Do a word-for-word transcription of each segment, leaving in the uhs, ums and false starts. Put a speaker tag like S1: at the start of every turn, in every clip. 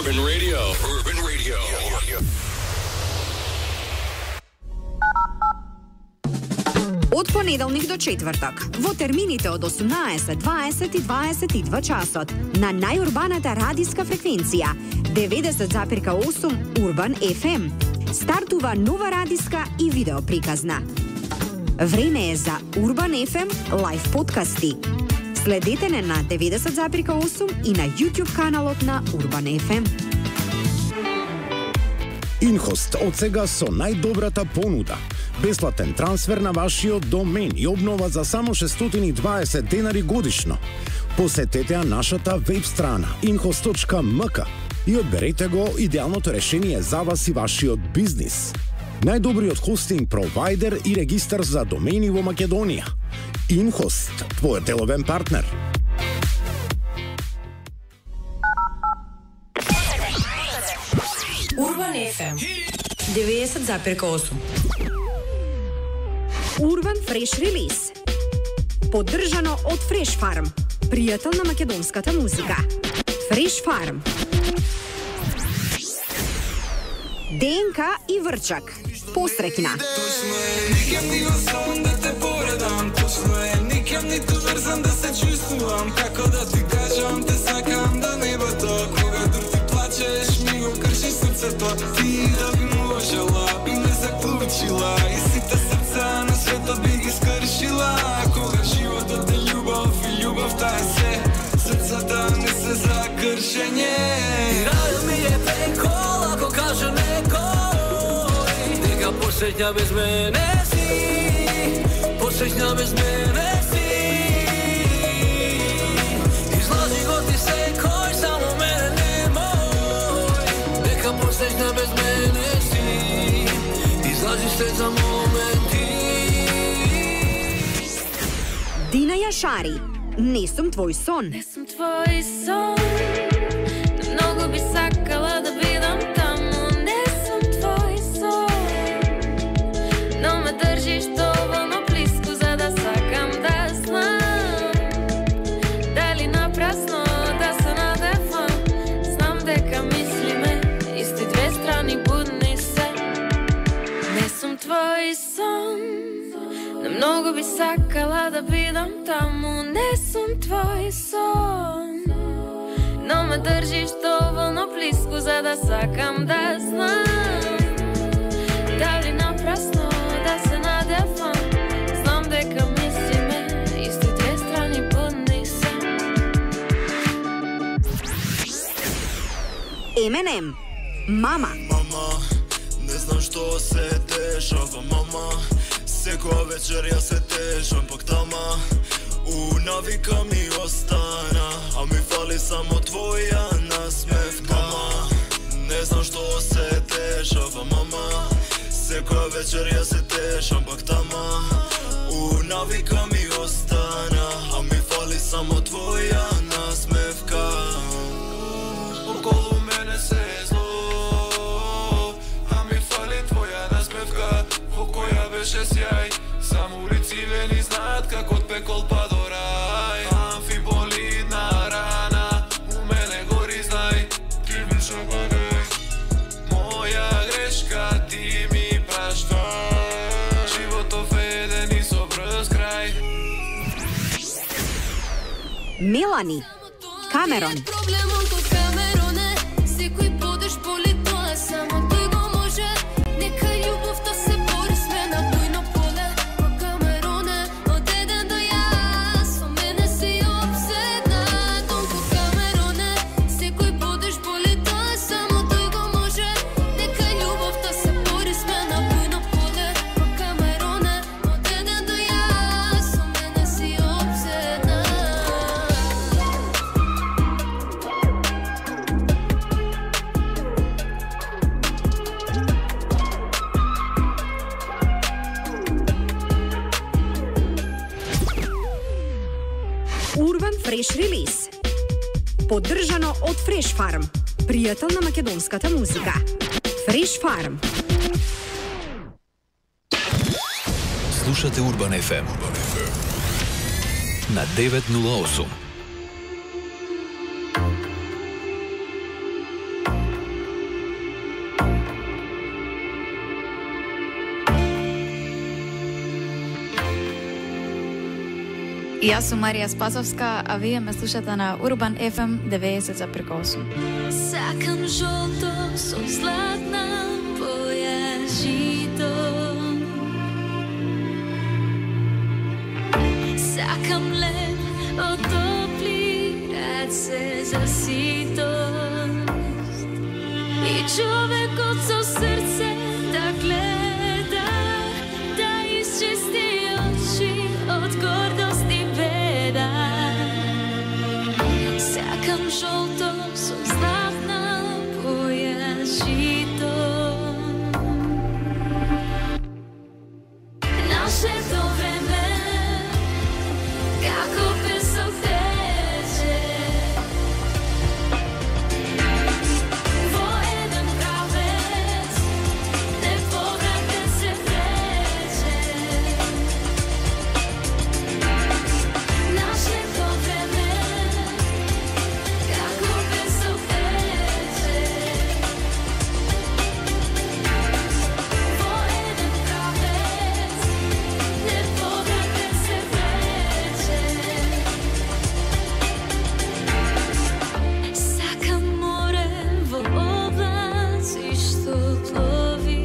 S1: Urban Radio. Urban Radio.
S2: Од понеделник до четвртак, во термините од осумнаесет, дваесет и дваесет и два часот, на најурбаната радиска фреквенција деветдесет запирка осум Urban еф ем, стартува нова радиска и видео приказна. Време е за Urban еф ем лайв подкасти. Следете не на деветдесет запирка осум и на YouTube каналот на Urban еф ем.
S3: Инхост од сега со најдобрата понуда. Бесплатен трансфер на вашиот домен и обнова за само шестстотини и дваесет денари годишно. Посетете ја нашата веб страна инхост точка ем ка и одберете го идеалното решение за вас и вашиот бизнис. Најдобриот хостинг провайдер и регистар за домени во Македонија. Инхост, твојот деловен партнер.
S2: Urban еф ем деветдесет запирка осум. Urban Fresh Release. Поддржано од Fresh Farm, пријател на македонската музика. Fresh Farm. ДНК и Врчак. Посрекна.
S4: Никем ни во сон да те поредам, точно е. Никем ниту врзан да се чувствувам. Како да ти кажам, те сакам до небото. Кога дур ти плачеш, ми го кршиш срцето. Ти да би можела, би ме заклучила. И сите срца на светот би ги скршила. Кога животот е љубов и љубовта е се, срцата не се за кршење.
S5: И рајот ми е прекол, ако каже некој дека посеќа без мене си, посеќа без мене си. Излази го ти секој, само мене немој, дека посеќа без мене си. Излази се за моменти.
S2: Дина Јашари. Не сум твој сон.
S6: Не сум твој сон. Многу би сакала да бидам таму. Не сум твој сон. Но ме држиш доволно близко за да сакам да знам. Дали напрасно да се надевам. Знам дека мислиме исти две страни будни се. Не сум твој сон. Но многу би сакала да бидам таму. Не сум твој сон. Но ме држиш доволно близко за да сакам да знам. Дали напрасно да се надевам. Знам дека мислиме исти две страни будни се.
S2: Еминем. Мама.
S4: Мама, не знам што се дешава, мама. Секоја вечер ја се тешам, пак тама у навика ми остана, а ми фали само твоја насмевка. Мама, не знам што се дешава, мама. Секоја вечер ја се тешам, пак тама у навика ми остана, а ми фали само твоја насмевка. Околу мене се е зло, а ми фали твоја насмевка. Во која беше сјај, само улици вени знаат како од пекол па до рај. Амфиболидна рана, у мене гори знај, ти ми забагај. Моја грешка ти ми праштај. Животов еден и со брз крај.
S2: Мелани. Камерон. Urban Fresh Release. Поддржано од Fresh Farm, пријател на македонската музика. Fresh Farm.
S1: Слушате Urban еф ем на деветстотини и осум.
S7: Јас сум Марија Спасовска, а вие ме слушате на Урбан еф ем деветдесет запирка осум.
S6: Сакам жолто со златна боја жито. Сакам леп од топли раце за ситост. И човекот со срце да гледа, да исчисти очи од гордост и беда. Сакам жолто со златна боја жито. Нашето време како песок тече во еден правец, неповратен се врече. Нашето време како песок тече во еден правец, неповратен се врече. Сакам море во облаци што плови,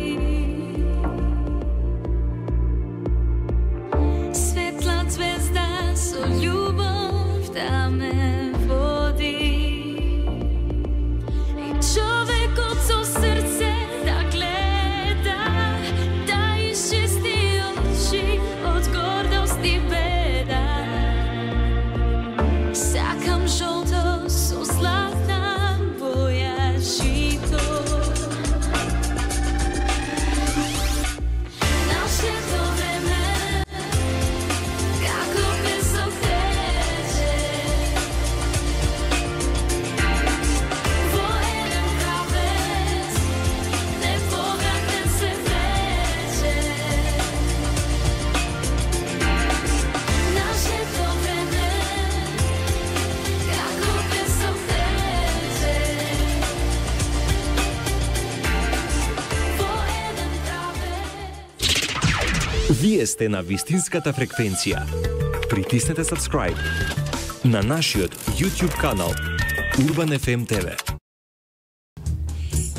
S6: светла звезда со љубов да ме води. И човекот со срце да гледа, да исчисти очи од гордост и беда. Сакам жолто со златна боја жито. Нашето време како песок тече во еден правец, неповратен се врече. Нашето време како песок тече во еден правец.
S8: Вие сте на вистинската фреквенција. Притиснете subscribe на нашиот YouTube канал Урбан еф ем те ве.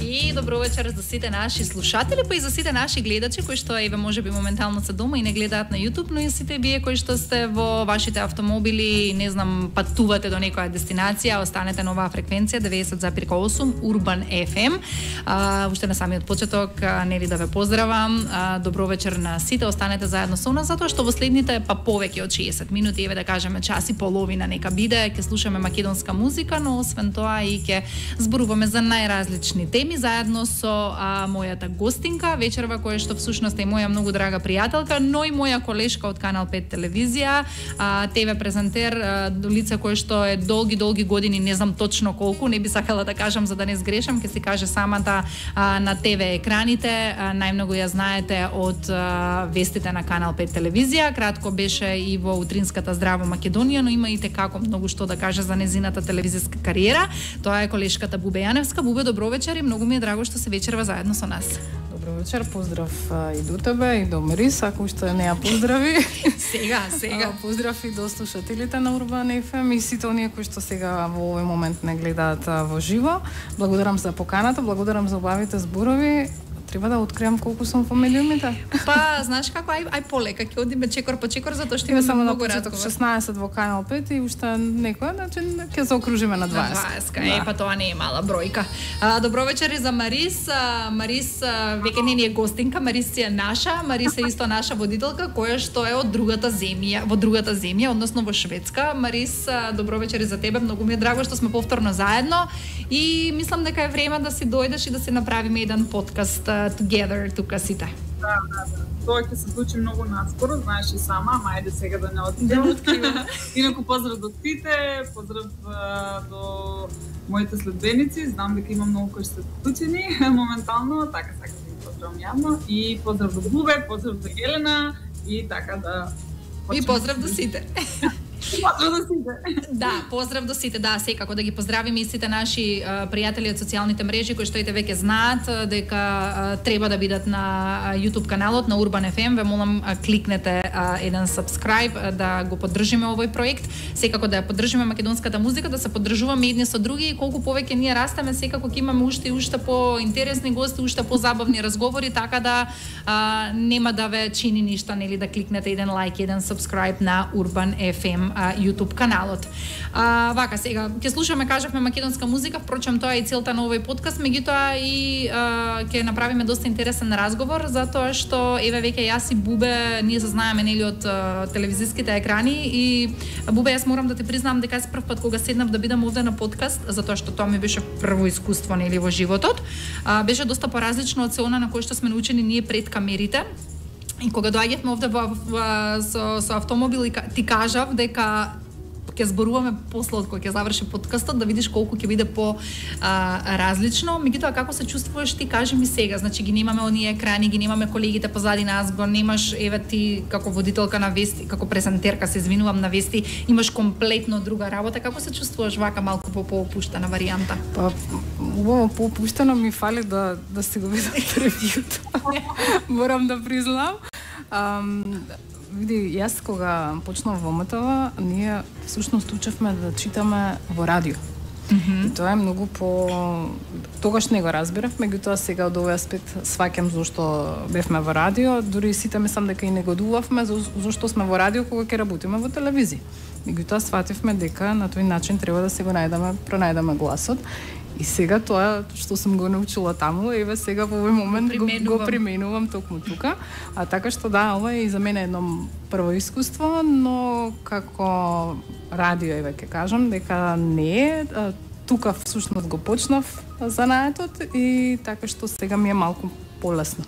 S9: И добро вечер за сите наши слушатели, па и за сите наши гледачи кои што еве можеби моментално се дома и не гледаат на YouTube, но и сите вие кои што сте во вашите автомобили, не знам, патувате до некоја дестинација, останете на оваа фреквенција деветдесет запирка осум Урбан еф ем. А, уште на самиот почеток, а, нели да ве поздравам. А, добро вечер на сите, останете заедно со нас затоа што во следните па повеќе од шеесет минути, еве да кажеме час и половина нека биде, ќе слушаме македонска музика, но освен тоа и ќе зборуваме за најразлични теми заедно со а, мојата гостинка вечерва, која што всушност е моја многу драга пријателка, но и моја колешка од Канал пет телевизија, а, те ве презентер, а, лице кое што е долги долги години, не знам точно колку, не би сакала да кажам за да не сгрешам, ќе си каже самата а, на те ве екраните, а, најмногу ја знаете од а, вестите на Канал пет телевизија, кратко беше и во утринската Здраво Македонија, но има и текако многу што да каже за незината телевизиска кариера. Тоа е колешката Бубе Јаневска. Бубе, добро вечер и многу ми е драго што се вечерва заедно со нас.
S10: Добро вечер, поздрав а, и до тебе и до Марис, ако уште не ја поздрави.
S9: Сега, сега.
S10: А, поздрав и до слушателите на Урбан еф ем и сите оние кои што сега во овој момент не гледаат а, во живо. Благодарам за поканата, благодарам за убавите зборови. Треба да откриам колку сум во медиумите.
S9: Па, знаеш како, ај, ај полека, ќе одиме чекор по чекор, затоа што имаме
S10: само на
S9: многу
S10: почеток
S9: разговор.
S10: шеснаесет во Канал пет и уште некој, значи ќе се окружиме на дваесет.
S9: На дваесет, е, па тоа не е мала бројка. А, добро вечер и за Марис. А, Марис а, веќе не ни е гостинка, Марис е наша, Марис е исто наша водителка, која што е од другата земја, во другата земја, односно во Шведска. Марис, а, добро вечер и за тебе, многу ми е драго што сме повторно заедно и мислам дека е време да си дојдеш и да си направиме еден подкаст uh, together тука сите.
S11: Да, да, да. Тоа ќе се случи многу наскоро, знаеш и сама, ама ајде сега да не откривам. Инаку поздрав до сите, поздрав а, до моите следбеници, знам дека има многу кои се вклучени моментално, така сакам да ги поздравам јавно и поздрав до Бубе, поздрав до Елена и така да
S9: И поздрав до сите.
S11: Поздрав до сите.
S9: Да, поздрав до сите, да, секако да ги поздравиме и сите наши а, пријатели од социјалните мрежи кои што и те веќе знаат дека а, треба да бидат на YouTube каналот на Urban еф ем. Ве молам а, кликнете а, еден subscribe а, да го поддржиме овој проект. Секако да ја поддржиме македонската музика, да се поддржуваме едни со други и колку повеќе ние растеме, секако ќе имаме уште и уште по интересни гости, уште по забавни разговори, така да а, нема да ве чини ништо, нели, да кликнете еден лайк, еден subscribe на Urban еф ем а, YouTube каналот. А, вака сега ќе слушаме, кажавме, македонска музика, впрочем тоа е и целта на овој подкаст, меѓутоа и а, ќе направиме доста интересен разговор, затоа што еве веќе јас и Бубе ние се знаеме, нели, од а, телевизиските екрани и Бубе, јас морам да ти признам дека јас прв пат кога седнав да бидам овде на подкаст, затоа што тоа ми беше прво искуство, нели, во животот, а, беше доста поразлично од се она на кое што сме научени ние пред камерите. И кога доаѓавме овде во, во, со, со автомобил и ти кажав дека ќе зборуваме после од кога ќе заврши подкастот, да видиш колку ќе биде по а, различно. Меѓутоа, како се чувствуваш ти, кажи ми сега, значи ги немаме оние екрани, ги немаме колегите позади нас, го немаш, еве ти како водителка на вести, како презентерка, се извинувам, на вести, имаш комплетно друга работа. Како се чувствуваш вака малку по поопуштена варијанта?
S10: Па, убаво поопуштено ми фали да да си го видам превијуто. Морам да признам. Um, види, јас кога почнав во ем те ве, ние всушност учевме да читаме во радио. Mm-hmm. И тоа е многу по... Тогаш не го разбирав, меѓутоа сега од овој аспект сваќам зошто бевме во радио, дури сите мислам дека и негодувавме зошто сме во радио кога ќе работиме во телевизија. Меѓутоа свативме дека на тој начин треба да се го најдеме, пронајдеме гласот. И сега тоа што сум го научила таму, еве сега во овој момент го, го применувам токму тука. А така што да, ова е и за мене едно прво искуство, но како радио, еве ќе кажам дека не е, тука всушност го почнав занаетот и така што сега ми е малку полесно.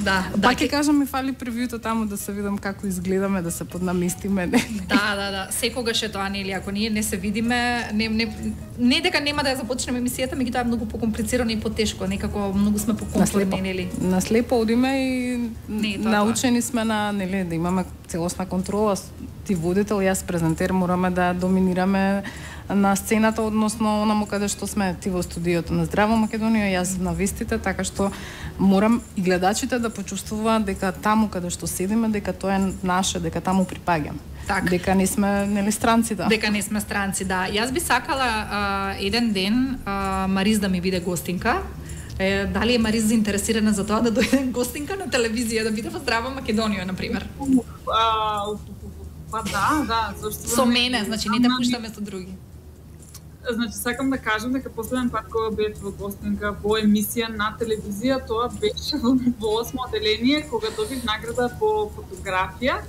S9: Да,
S10: па
S9: да,
S10: ќе кажам, ми фали превијуто таму да се видам како изгледаме, да се поднаместиме. Не.
S9: Да, да, да. Секогаш е тоа, нели, ако ние не се видиме, не не не дека нема да ја започнеме емисијата, меѓутоа е многу покомплицирано и потешко, некако многу сме покомплицирани, нели.
S10: На слепо одиме и
S9: не, тоа,
S10: научени сме на, нели, да имаме целосна контрола. Ти водител, јас презентер, мораме да доминираме на сцената, односно онамо каде што сме, ти во студиото на Здраво Македонија, јас на вестите, така што морам и гледачите да почувствуваат дека таму каде што седиме, дека тоа е наше, дека таму припаѓаме. Так. Дека не сме, нели, странци, да.
S9: Дека не сме странци, да. Јас би сакала а, еден ден а, Мариз да ми биде гостинка. Е, дали е Мариз заинтересирана за тоа да дојде гостинка на телевизија, да биде во Здрава Македонија, на пример?
S11: А, па да, да, зашто
S9: со мене, значи не те пуштаме со други.
S11: Значи, сакам да кажам дека последен пат кога бев во гостинка во емисија на телевизија, тоа беше во осмо оделение, кога добив награда по фотографија.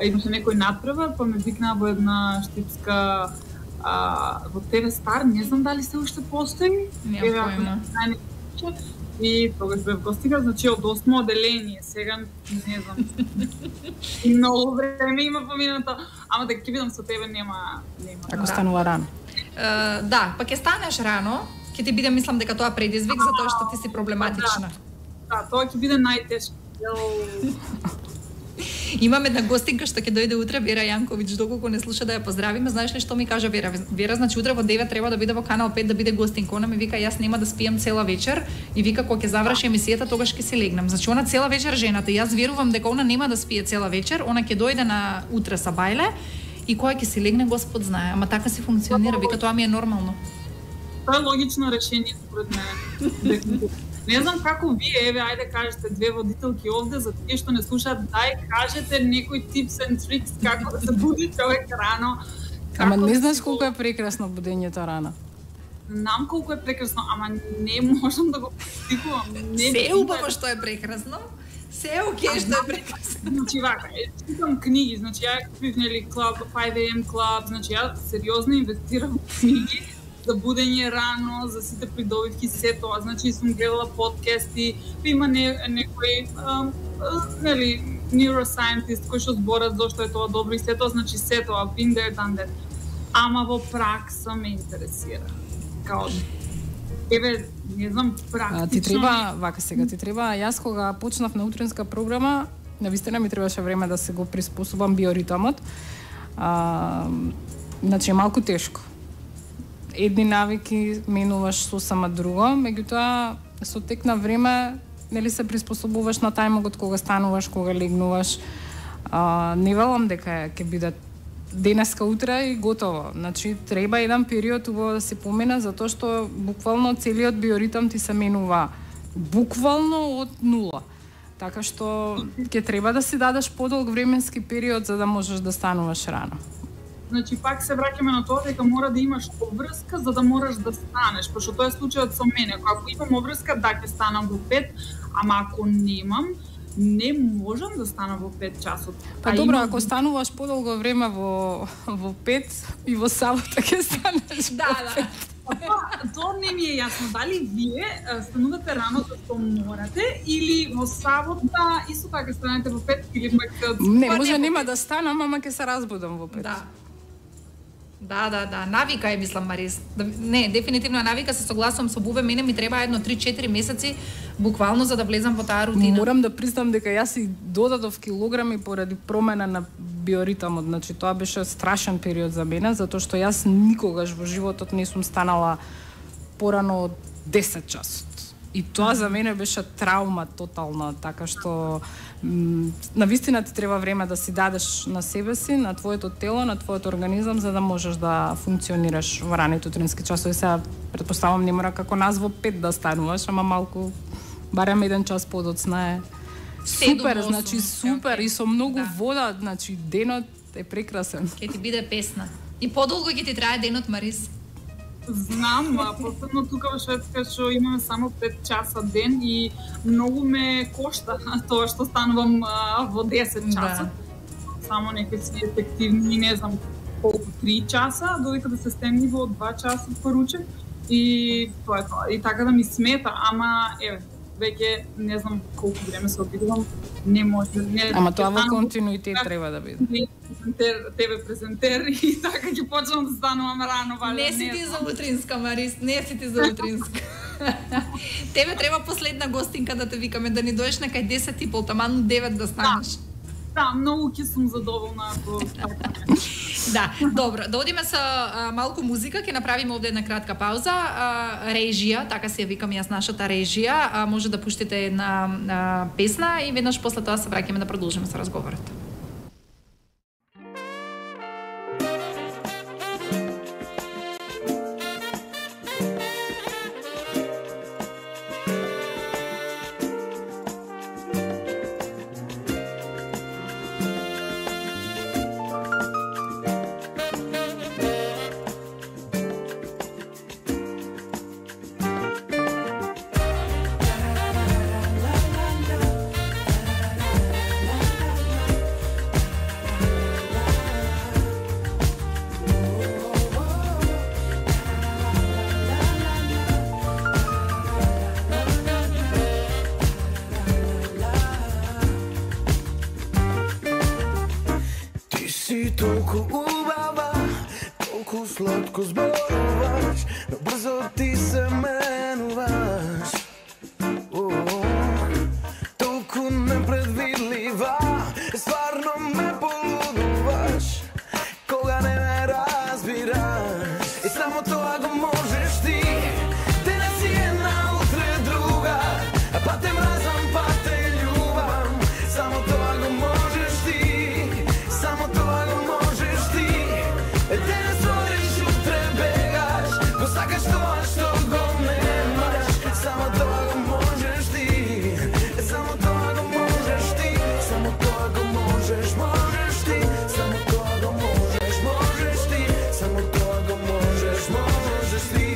S11: Имаше некој надпревар, па ме викнаа во една штипска а, во те ве Стар, не знам дали се уште постои.
S9: Немам појма.
S11: И тогаш бев гостинка, значи од осмо оделение, сега не знам. И многу време има поминато, ама дека ќе видам со тебе нема нема.
S10: Ако станува рано.
S9: Uh, да, па ќе станеш рано, ќе ти биде, мислам дека тоа предизвик затоа што ти си проблематична.
S11: Да, да, тоа ќе биде најтешко.
S9: Имаме една гостинка што ќе дојде утре, Вера Јанковиќ, доколку не слуша да ја поздравиме. Знаеш ли што ми кажа Вера? Вера, значи утре во девет треба да биде во Канал пет да биде гостинка. Она ми вика јас нема да спијам цела вечер и вика кога ќе заврши емисијата тогаш ќе си легнам. Значи она цела вечер жената, јас верувам дека она нема да спие цела вечер, она ќе дојде на утре са бајле и која ќе си легне Господ знае, ама така си функционира, вика тоа ми е нормално.
S11: Тоа е логично решение според мене. Не знам како вие, еве, ајде кажете две водителки овде за тие што не слушаат, дај кажете некој tips and tricks како да се буди човек рано.
S10: Ама не знаеш колку е прекрасно будењето рано.
S11: Знам колку е прекрасно, ама не можам да го постигувам.
S9: Се е убаво што е прекрасно. Се е окей што е прекрасно.
S11: Значи вака, читам книги, значи ја купив нели Club, five a m Club, значи ја сериозно инвестирам во книги за будење рано, за сите придобивки, се тоа. Значи сум гледала подкасти, има не, некој нели neuroscientist кој што зборат зошто е тоа добро и се тоа, значи се тоа, been there, done that. Ама во пракса ме интересира. Као еве, не знам, практично.
S10: А, ти треба, вака сега, ти треба, јас кога почнав на утринска програма, навистина ми требаше време да се го приспособам биоритмот. А, значи е малку тешко. Едни навики менуваш сосема друго, меѓутоа со тек на време нели се приспособуваш на тајмогот кога стануваш, кога легнуваш. А, не велам дека ќе биде денеска утре и готово. Значи треба еден период убаво да се помине затоа што буквално целиот биоритам ти се менува буквално од нула. Така што ќе треба да си дадеш подолг временски период за да можеш да стануваш рано.
S11: Значи пак се враќаме на тоа дека мора да имаш обврска за да можеш да станеш, пошто тоа е случајот со мене. Ако имам обврска, да ќе станам во пет, ама ако немам, не можам да станам во пет часот.
S10: Па а добро, имам... ако стануваш подолго време во во пет и во сабота ќе станеш.
S9: Да, да.
S11: Тоа то не ми е јасно дали вие станувате рано зашто морате или во сабота исто така станете во пет или пак
S10: не, може нема да станам, ама ќе се разбудам во пет.
S9: Да. Да, да, да, навика е, мислам, Марис. Не, дефинитивно е навика, се согласувам со Бубе, мене ми треба едно три-четири месеци буквално за да влезам во таа рутина.
S10: Морам да признам дека јас и додадов килограми поради промена на биоритамот. Значи тоа беше страшен период за мене, затоа што јас никогаш во животот не сум станала порано од десет часот. И тоа за мене беше траума тотална, така што на вистина ти треба време да си дадеш на себе си, на твоето тело, на твојот организам за да можеш да функционираш во раните утрински часови. Сега претпоставам не мора како нас во пет да стануваш, ама малку барем еден час подоцна е супер, значи супер и со многу да. Вода, значи денот е прекрасен.
S9: Ќе ти биде песна. И подолго ќе ти трае денот, Марис.
S11: Знам, а посебно тука во Шведска што имаме само пет часа ден и многу ме кошта тоа што станувам а, во десет часа. Да. Само некои ефективни, не знам колку, три часа, додека да се стемни во два часа поручек и тоа е тоа. И така да ми смета, ама еве, веќе не знам колку време се обидувам, не може. Не,
S10: ама тоа во континуитет треба да биде.
S11: Тебе презентер и така ќе почнам да станувам рано, вале.
S9: Не си ти за утринска, Марис, не си ти за утринска. Тебе треба последна гостинка да те викаме, да ни доеш на кај десет и пол, таману девет да станеш.
S11: Да. Да, многу ќе сум задоволна ако така.
S9: Да, добро. Да одиме со а, малку музика, ќе направиме овде една кратка пауза. А, режија, така се ја викам јас нашата режија, а, може да пуштите една а, песна и веднаш после тоа се враќаме да продолжиме со разговорот.
S12: Сладко зборуваш, но брзо ти се менуваш. Толку непредвидлива, стварно ме полудуваш, кога не ме разбираш. И само тоа го можеш ти, денес си една, утре друга, па те мразам, па те љубам. Само тоа го можеш ти, само тоа го можеш ти. Денес сакаш тоа што го немаш, само тоа го можеш ти, само тоа го можеш ти, само тоа го можеш, можеш ти, само тоа го можеш, можеш ти, само тоа го можеш, можеш ти.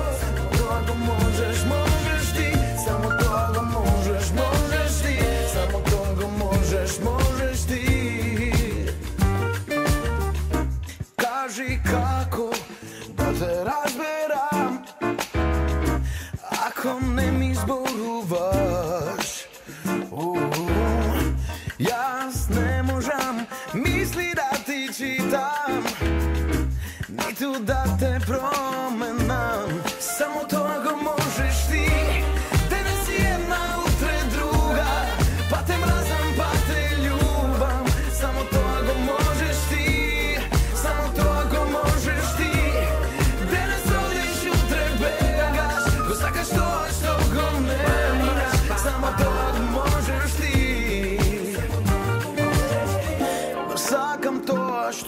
S12: Само тоа го можеш, можеш ти, само тоа го можеш, можеш ти, само тоа го можеш, можеш ти. Кажи како да те разберам, ако не ми зборуваш. Јас не можам мисли да ти читам, ниту да те променам. Само тоа го можеш ти, денес си една, утре друга, па те мразам, па те љубам. Само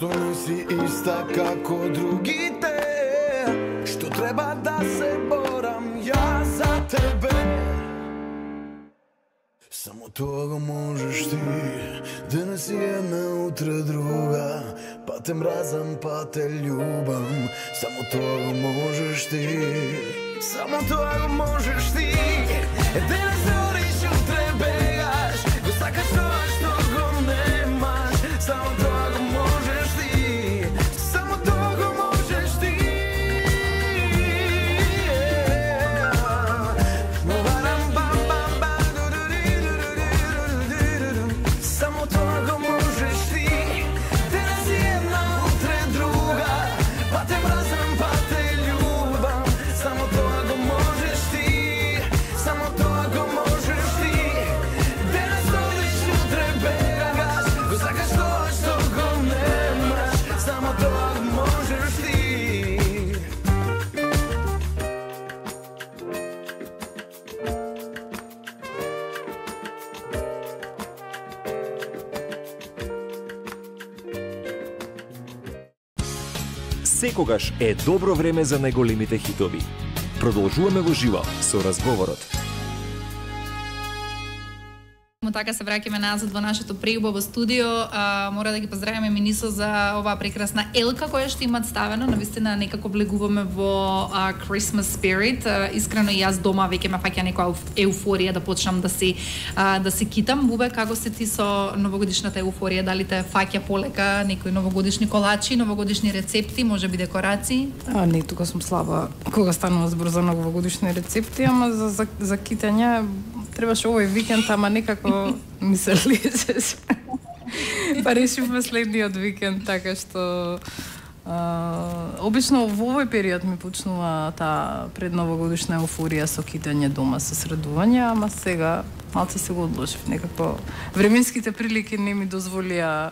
S12: Зашто не си иста како другите? Што треба да се борам ја за тебе? Само тоа го можеш ти. Денес си една, утре друга. Па те мразам, па те љубам. Само тоа го можеш ти. Само тоа го можеш ти. Денес одиш, утре бегаш. Го сакаш тоа што го немаш. Само тоа го можеш ти. Само тоа го можеш ти. Само тоа го можеш ти. Денес си една, утре друга. Па те мразам, па те љубам. Само тоа го можеш ти. Само тоа го можеш ти. Денес одиш, утре бегаш. Го сакаш тоа што го немаш. Само тоа го можеш ти.
S8: Секогаш е добро време за најголемите хитови. Продолжуваме во живо со разговорот.
S9: Така се враќаме назад во нашето преубаво студио. А, мора да ги поздравиме Минисо за оваа прекрасна елка која што имат ставено. Навистина некако влегуваме во а, Christmas spirit. А, искрено и јас дома веќе ме фаќа некоја еуфорија да почнам да си а, да се китам. Бубе, како се ти со новогодишната еуфорија? Дали те фаќа полека некои новогодишни колачи, новогодишни рецепти, можеби декорации?
S10: А, не, тука сум слаба кога станува збор за новогодишни рецепти, ама за, за, за китање требаше овој викенд, ама некако ми се лезе. Па решивме следниот викенд, така што а, обично во овој период ми почнува таа предновогодишна еуфорија со китање дома, со средување, ама сега малце се го одложив. Некако временските прилики не ми дозволија,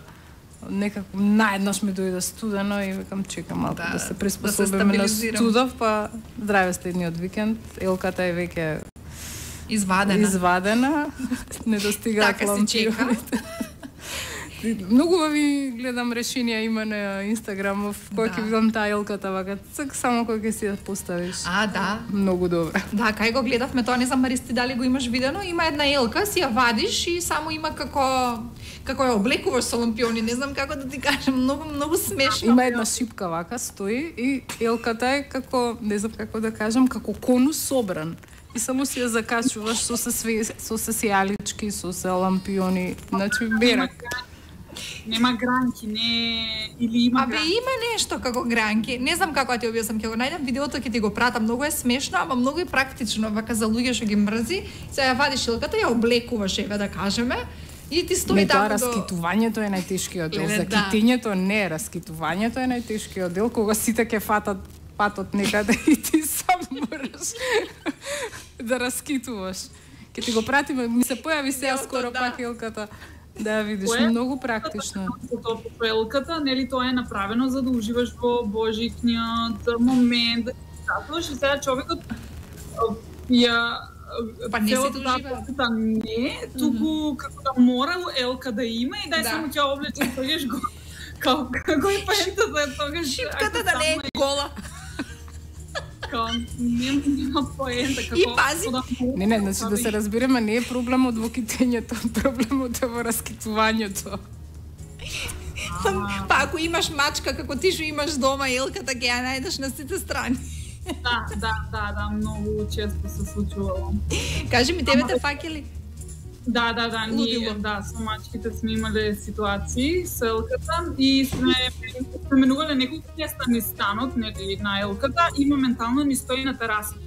S10: некако наеднаш ми дојде студено и викам чекам малку да, да се приспособиме да на студов, па здраве следниот викенд. Елката е веќе
S9: Извадена.
S10: Извадена. Не достигаат
S9: така
S10: лампионите. Многу ви гледам решенија има на Инстаграм, во кој ќе видам таа елката вака, цк само кој ќе си ја поставиш.
S9: А, да.
S10: Многу добро.
S9: Да, кај го гледавме тоа, не знам Маристи дали го имаш видено, има една елка, си ја вадиш и само има како како ја облекуваш со лампиони, не знам како да ти кажам, многу многу смешно.
S10: Има една шипка вака стои и елката е како, не знам како да кажам, како конус собран. И само си ја закачуваш со се со се сејалички, со се лампиони, значи берак.
S11: Нема гранки, не или има
S9: Абе
S11: гранки.
S9: има нешто како гранки. Не знам како да ти објаснам, ќе го најдам видеото, ќе ти го пратам. Многу е смешно, ама многу е практично, вака за луѓе што ги мрзи. Сега ја вадиш елката, ја облекуваш, еве да кажеме. И ти стои
S10: не,
S9: таму
S10: тоа
S9: до...
S10: раскитувањето е најтешкиот дел.
S9: Леле,
S10: За
S9: да.
S10: китењето не, раскитувањето е најтешкиот дел, кога сите ќе фатат патот некаде и ти сам мораш да раскитуваш. Ке ти го пратиме, ми се појави сега скоро
S9: да.
S10: пак елката. Да ја видиш,
S11: Кое?
S10: многу практично.
S11: Тоа по елката, нели тоа е направено за да уживаш во божикниот момент, да статуваш и сега човекот ја
S9: Па не
S11: целата
S9: се
S11: таа
S9: доживеа.
S11: посета не, туку како да мора елка да има и дај
S9: Да.
S11: само ќе облечеш, тогаш го како како и паентата тогаш
S9: Шипката да не е гола.
S11: Као нема нема поента како
S9: И пази.
S11: да
S10: Не, не, значи да се разбереме, не е проблемот во китењето, проблемот е во раскитувањето.
S9: Па ако имаш мачка како ти што имаш дома, елката ќе ја најдеш на сите страни.
S11: Да, да, да, да, многу често се случувало.
S9: Кажи ми, тебе те фаќали?
S11: Да, да, да, ние,
S9: Лудило.
S11: да, со мачките сме имале ситуации со елката и сме пременувале неколку места низ станот, нели, на елката и моментално ни стои на терасата.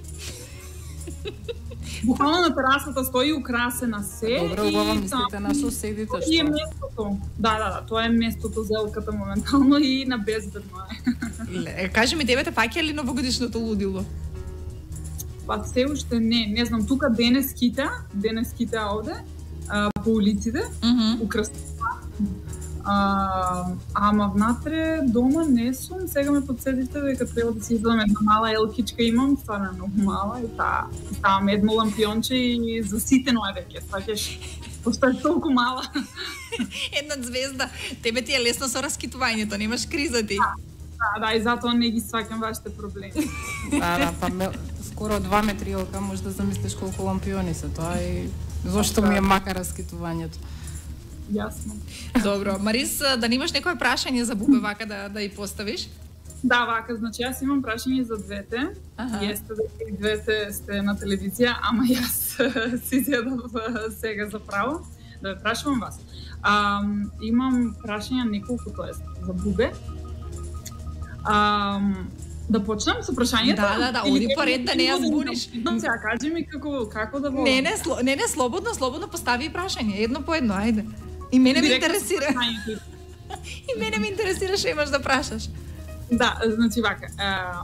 S11: Буквално на терасата стои украсена се.
S10: Добро, убаво мислите на соседите,
S11: И е
S10: што?
S11: местото. Да, да, да, тоа е местото за елката моментално и на безбедно е.
S9: Ле, кажи ми, тебе те фаќали новогодишното лудило?
S11: Па се уште не, не знам, тука денес кита, денес кита овде, а, по улиците,
S9: Mm -hmm.
S11: украсува. А, ама внатре дома не сум, сега ме подсетите дека треба да си извадам една мала елкичка имам, стварно е многу мала и таа ставам едно лампионче и заситено е веќе, сваќаш. Пошто е толку мала.
S9: Една звезда, тебе ти е лесно со раскитувањето, немаш криза ти.
S11: Да, да, и затоа не ги сваќам вашите проблеми.
S10: Да, да, па ме, скоро два метри ока, може да замислиш колку лампиони се тоа и зошто ми е мака раскитувањето.
S11: Јасно.
S9: Добро, Марис, да немаш некое прашање за Бубе вака да да ја поставиш?
S11: Да, вака, значи јас имам прашање за двете. Ага. Јесте дека и двете сте на телевизија, ама јас си зедов сега за право да ве прашувам вас. А, имам прашања неколку, тоест, за Бубе. А, да почнам со прашањето?
S9: Да, да, да, оди по ред да не ја збуниш.
S11: Да, сега кажи ми како како да во...
S9: Не, не, сло, не, не, слободно, слободно постави прашање, едно по едно, ајде. И мене ме интересира. И мене ме интересира што имаш да прашаш.
S11: Да, значи вака, а,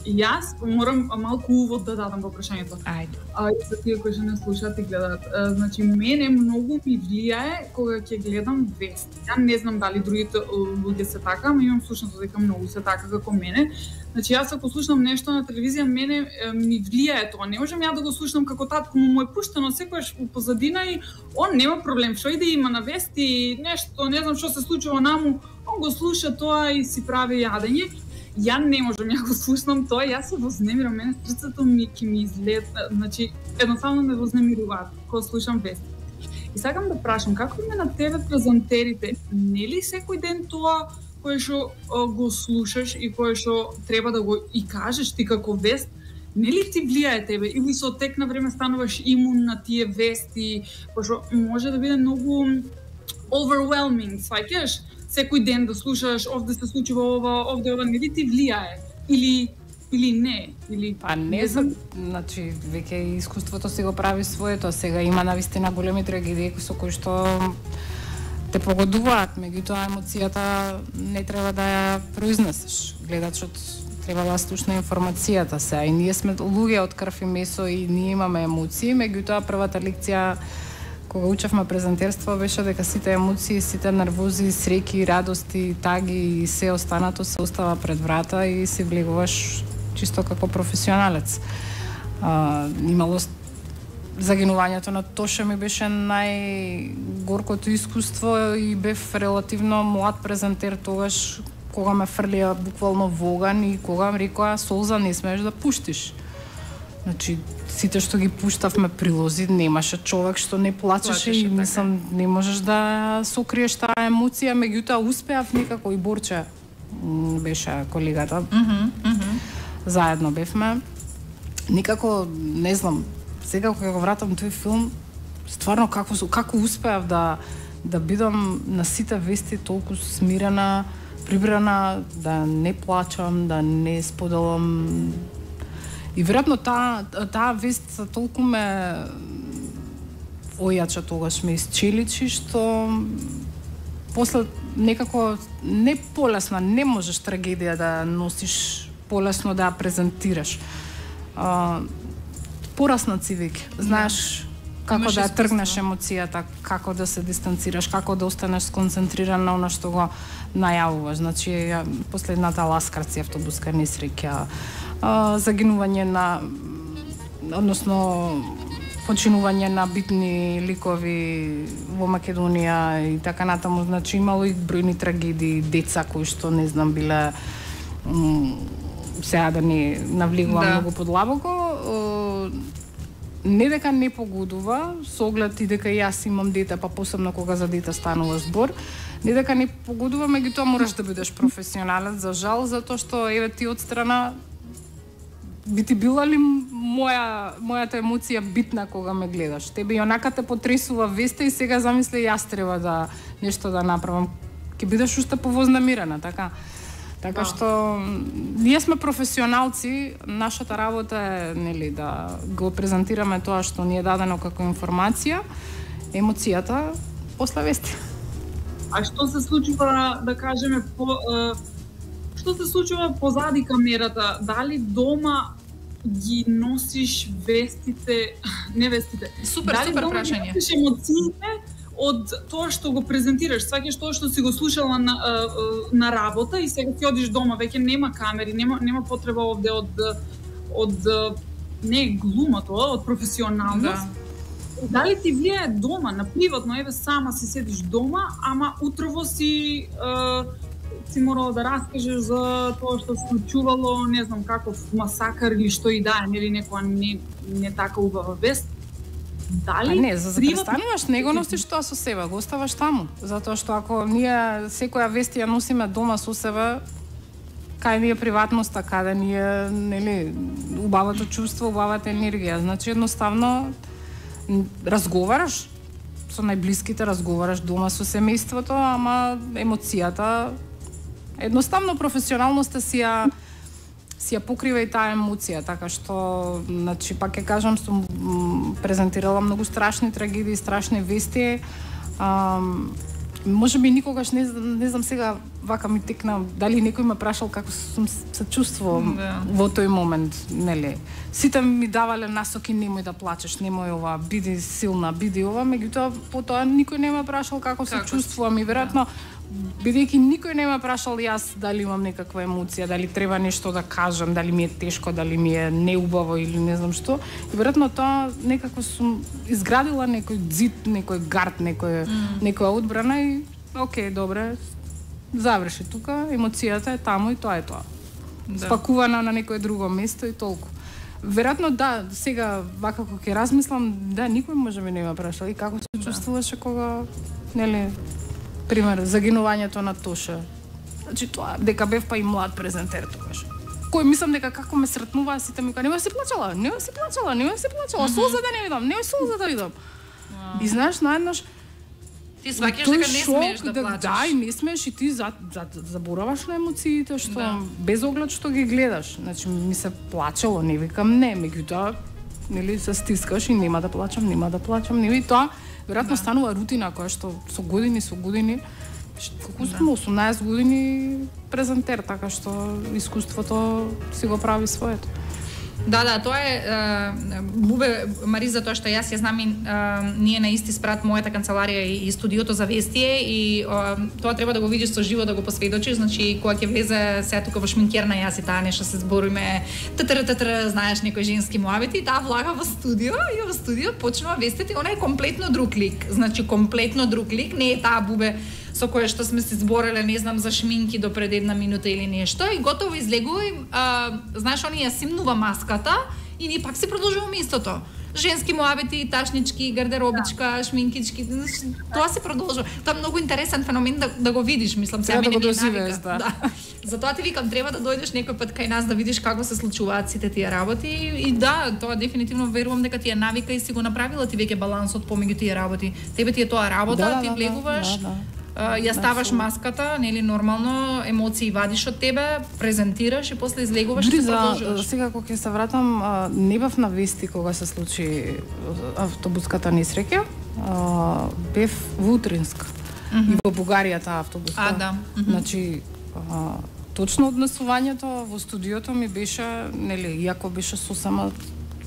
S11: јас морам малку увод да дадам во прашањето.
S9: Ајде.
S11: А и за тие кои што не слушаат и гледаат. А, значи мене многу ми влијае кога ќе гледам вести. Ја не знам дали другите луѓе се така, ама имам слушнато дека многу се така како мене. Значи јас ако слушнам нешто на телевизија, мене е, ми влијае тоа. Не можам ја да го слушнам како татко му е пуштено секогаш у позадина и он нема проблем. Што иде има на вести, нешто, не знам што се случува наму, он го слуша тоа и си прави јадење. Ја не можам ја го слушнам тоа, јас се вознемирам, мене срцето ми ќе ми излет, значи едноставно ме вознемируваат кога слушам вести. И сакам да прашам, како ме на тебе презентерите, нели секој ден тоа кое што го слушаш и кое што треба да го и кажеш ти како вест, нели ти влијае тебе или со тек на време стануваш имун на тие вести, пошто може да биде многу overwhelming, сваќаш? Секој ден да слушаш, овде се случува ова, овде ова, нели ти влијае? Или или не? Или
S10: па не знам, значи веќе искуството си го прави своето, сега има навистина големи трагедии со кои што те погодуваат, меѓутоа емоцијата не треба да ја произнесеш. Гледачот треба да слушне информацијата се, и ние сме луѓе од крв и месо и ние имаме емоции, меѓутоа првата лекција кога учевме презентерство беше дека сите емоции, сите нервози, среќи, радости, таги и се останато се остава пред врата и се влегуваш чисто како професионалец. А, имало загинувањето на Тоша ми беше најгоркото искуство и бев релативно млад презентер тогаш кога ме фрлија буквално во оган и кога ми рекоа солза не смееш да пуштиш. Значи, сите што ги пуштавме прилози, немаше човек што не плачеше и мислам, не можеш да сокриеш таа емоција, меѓутоа успеав некако и Борче беше колегата.
S9: Mm -hmm, mm -hmm.
S10: Заедно бевме. Никако, не знам, сега кога го вратам тој филм, стварно како како успеав да да бидам на сите вести толку смирена, прибрана, да не плачам, да не споделам. И веројатно таа таа вест толку ме ојача тогаш, ме исчеличи, што после некако не полесно, не можеш трагедија да носиш полесно да ја презентираш. А, порасна си веќе, знаеш како
S9: Имаш
S10: да ја
S9: искуство.
S10: тргнеш емоцијата, како да се дистанцираш, како да останеш сконцентриран на она што го најавуваш. Значи, ја, последната ласкарци автобуска несреќа, а, загинување на, односно починување на битни ликови во Македонија и така натаму, значи имало и бројни трагедии, деца кои што не знам биле, сега да не навлегувам
S9: Да.
S10: многу подлабоко, не дека не погодува, со оглед и дека јас имам дете, па посебно кога за дете станува збор, не дека не погодува, меѓутоа мораш да бидеш професионалец, за жал, затоа што еве ти од страна би ти била ли моја мојата емоција битна кога ме гледаш? Тебе и онака те потресува веста и сега замисли јас треба да нешто да направам. Ќе бидеш уште повознемирена, така? Така што ние сме професионалци, нашата работа е, нели, да го презентираме тоа што ни е дадено како информација, емоцијата после вести.
S11: А што се случува, да кажеме, по, е, што се случува позади камерата? Дали дома ги носиш вестите, не вестите?
S9: Супер,
S11: дали
S9: супер
S11: дома
S9: прашање.
S11: Ги носиш емоциите од тоа што го презентираш, сваќаш тоа што си го слушала на, на работа и сега ти одиш дома, веќе нема камери, нема нема потреба овде од од не глума тоа, од професионалност.
S9: Да.
S11: Дали ти влијае дома, на приватно, еве сама си седиш дома, ама утрово си е, си морала да раскажеш за тоа што се случувало, не знам каков масакар или што и да е, нели некоја не, не така убава вест. Дали
S10: а не, за да престануваш, не го носиш тоа со себе, го оставаш таму. Затоа што ако ние секоја вест ја носиме дома со себе, кај ни е приватноста, каде ни е, нели, убавото чувство, убавата енергија. Значи едноставно разговараш со најблиските, разговараш дома со семејството, ама емоцијата едноставно професионалноста си ја си ја покрива и таа емоција, така што, значи, пак ќе кажам, сум презентирала многу страшни трагедии, страшни вести. А, може би никогаш не, не знам сега вака ми текна дали некој ме прашал како сум се чувствувам да. Во тој момент, нели. Сите ми давале насоки, немој да плачеш, немој ова, биди силна, биди ова, меѓутоа потоа никој не ме прашал како, како се чувствувам и веројатно бидејќи никој не ме прашал јас дали имам некаква емоција, дали треба нешто да кажам, дали ми е тешко, дали ми е неубаво или не знам што. И веројатно тоа некако сум изградила некој зид, некој гард, некој mm. некоја одбрана и окей, добре, заврши тука, емоцијата е таму и тоа е тоа. Да. Спакувана на некое друго место и толку. Веројатно да, сега вака кога ќе размислам, да, никој може би не ме прашал и како се чувствуваше кога, нели, пример, загинувањето на Тоша. Значи тоа, дека бев па и млад презентер тогаш. Кој мислам дека како ме сретнуваа сите ми кажа, немој се плачала, немој се плачала, немој се плачала, mm -hmm. солза да не видам, немој солза да видам. Wow. И знаеш, наеднаш
S9: ти сваќаш дека не смееш да, да плачеш.
S10: Да, и не смееш и ти за, за, забораваш на емоциите што да. Без оглед што ги гледаш. Значи ми се плачело, не викам не, меѓутоа нели се стискаш и нема да плачам, нема да плачам, нели тоа веројатно да. Станува рутина која што со години со години колку сум да. осумнаесет години презентер, така што искуството си го прави своето.
S9: Да, да, тоа е Бубе Мариза, тоа што јас ја знам и а, ние на исти спрат мојата канцеларија и, и студиото за вестие и а, тоа треба да го видиш со живо, да го посведочиш, значи кога ќе влезе сега тука во шминкерна јас и таа нешто се збориме ттр ттр, знаеш, некои женски муабети, таа влага во студио и во студио почнува вестите, она е комплетно друг лик, значи комплетно друг лик, не е таа Бубе со која што сме се збореле, не знам, за шминки до пред една минута или нешто и готово излегува и, а, знаеш, они ја симнува маската и ние пак си продолжуваме истото. Женски муабети, ташнички, гардеробичка, да. Шминкички, тоа се продолжува. Тоа е многу интересен феномен да, да го видиш, мислам, сега мене ми е навика. Да. Да. Затоа ти викам, треба да дојдеш некој пат кај нас да видиш како се случуваат сите тие работи и да, тоа дефинитивно верувам дека ти е навика и си го направила ти веќе балансот помеѓу тие работи. Тебе ти е тоа работа, да, ти да, влегуваш. Да, да. Uh, ја ставаш маската, нели нормално, емоции вадиш од тебе, презентираш и после излегуваш и продолжуваш.
S10: Сега кога ќе се вратам, не бев на вести кога се случи автобуската несреќа, бев во Утринск mm -hmm. и во Бугарија таа автобуска.
S9: А, да. Mm -hmm.
S10: Значи, а, точно однесувањето во студиото ми беше, нели, иако беше сосема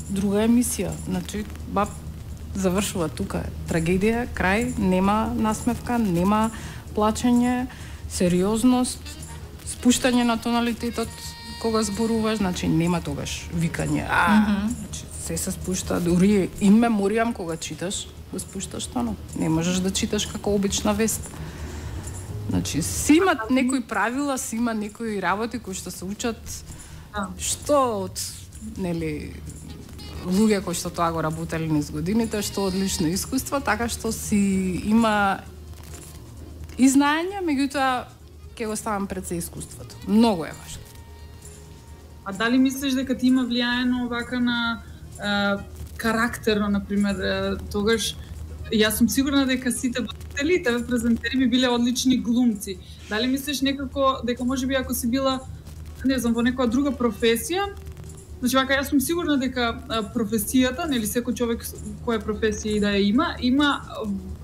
S10: друга емисија. Значи, баб завршува тука. Трагедија, крај, нема насмевка, нема плачење, сериозност, спуштање на тоналитетот кога зборуваш, значи нема тогаш викање. А, mm -hmm. значи се се спушта, дури ин меморијам кога читаш, го спушташ тонот. Не можеш да читаш како обична вест. Значи си има некои правила, си има некои работи кои што се учат што од, нели, луѓе кои што тоа го работеле низ годините, што одлично искуство, така што си има и знаење, меѓутоа ќе го ставам пред се искуството. Многу е важно.
S11: А дали мислиш дека ти има влијаено вака на е, карактерно, например, е, тогаш јас сум сигурна дека сите водители, тебе презентери би биле одлични глумци. Дали мислиш некако дека можеби ако си била, не знам, во некоја друга професија, значи вака јас сум сигурна дека професијата, нели секој човек која професија и да ја има, има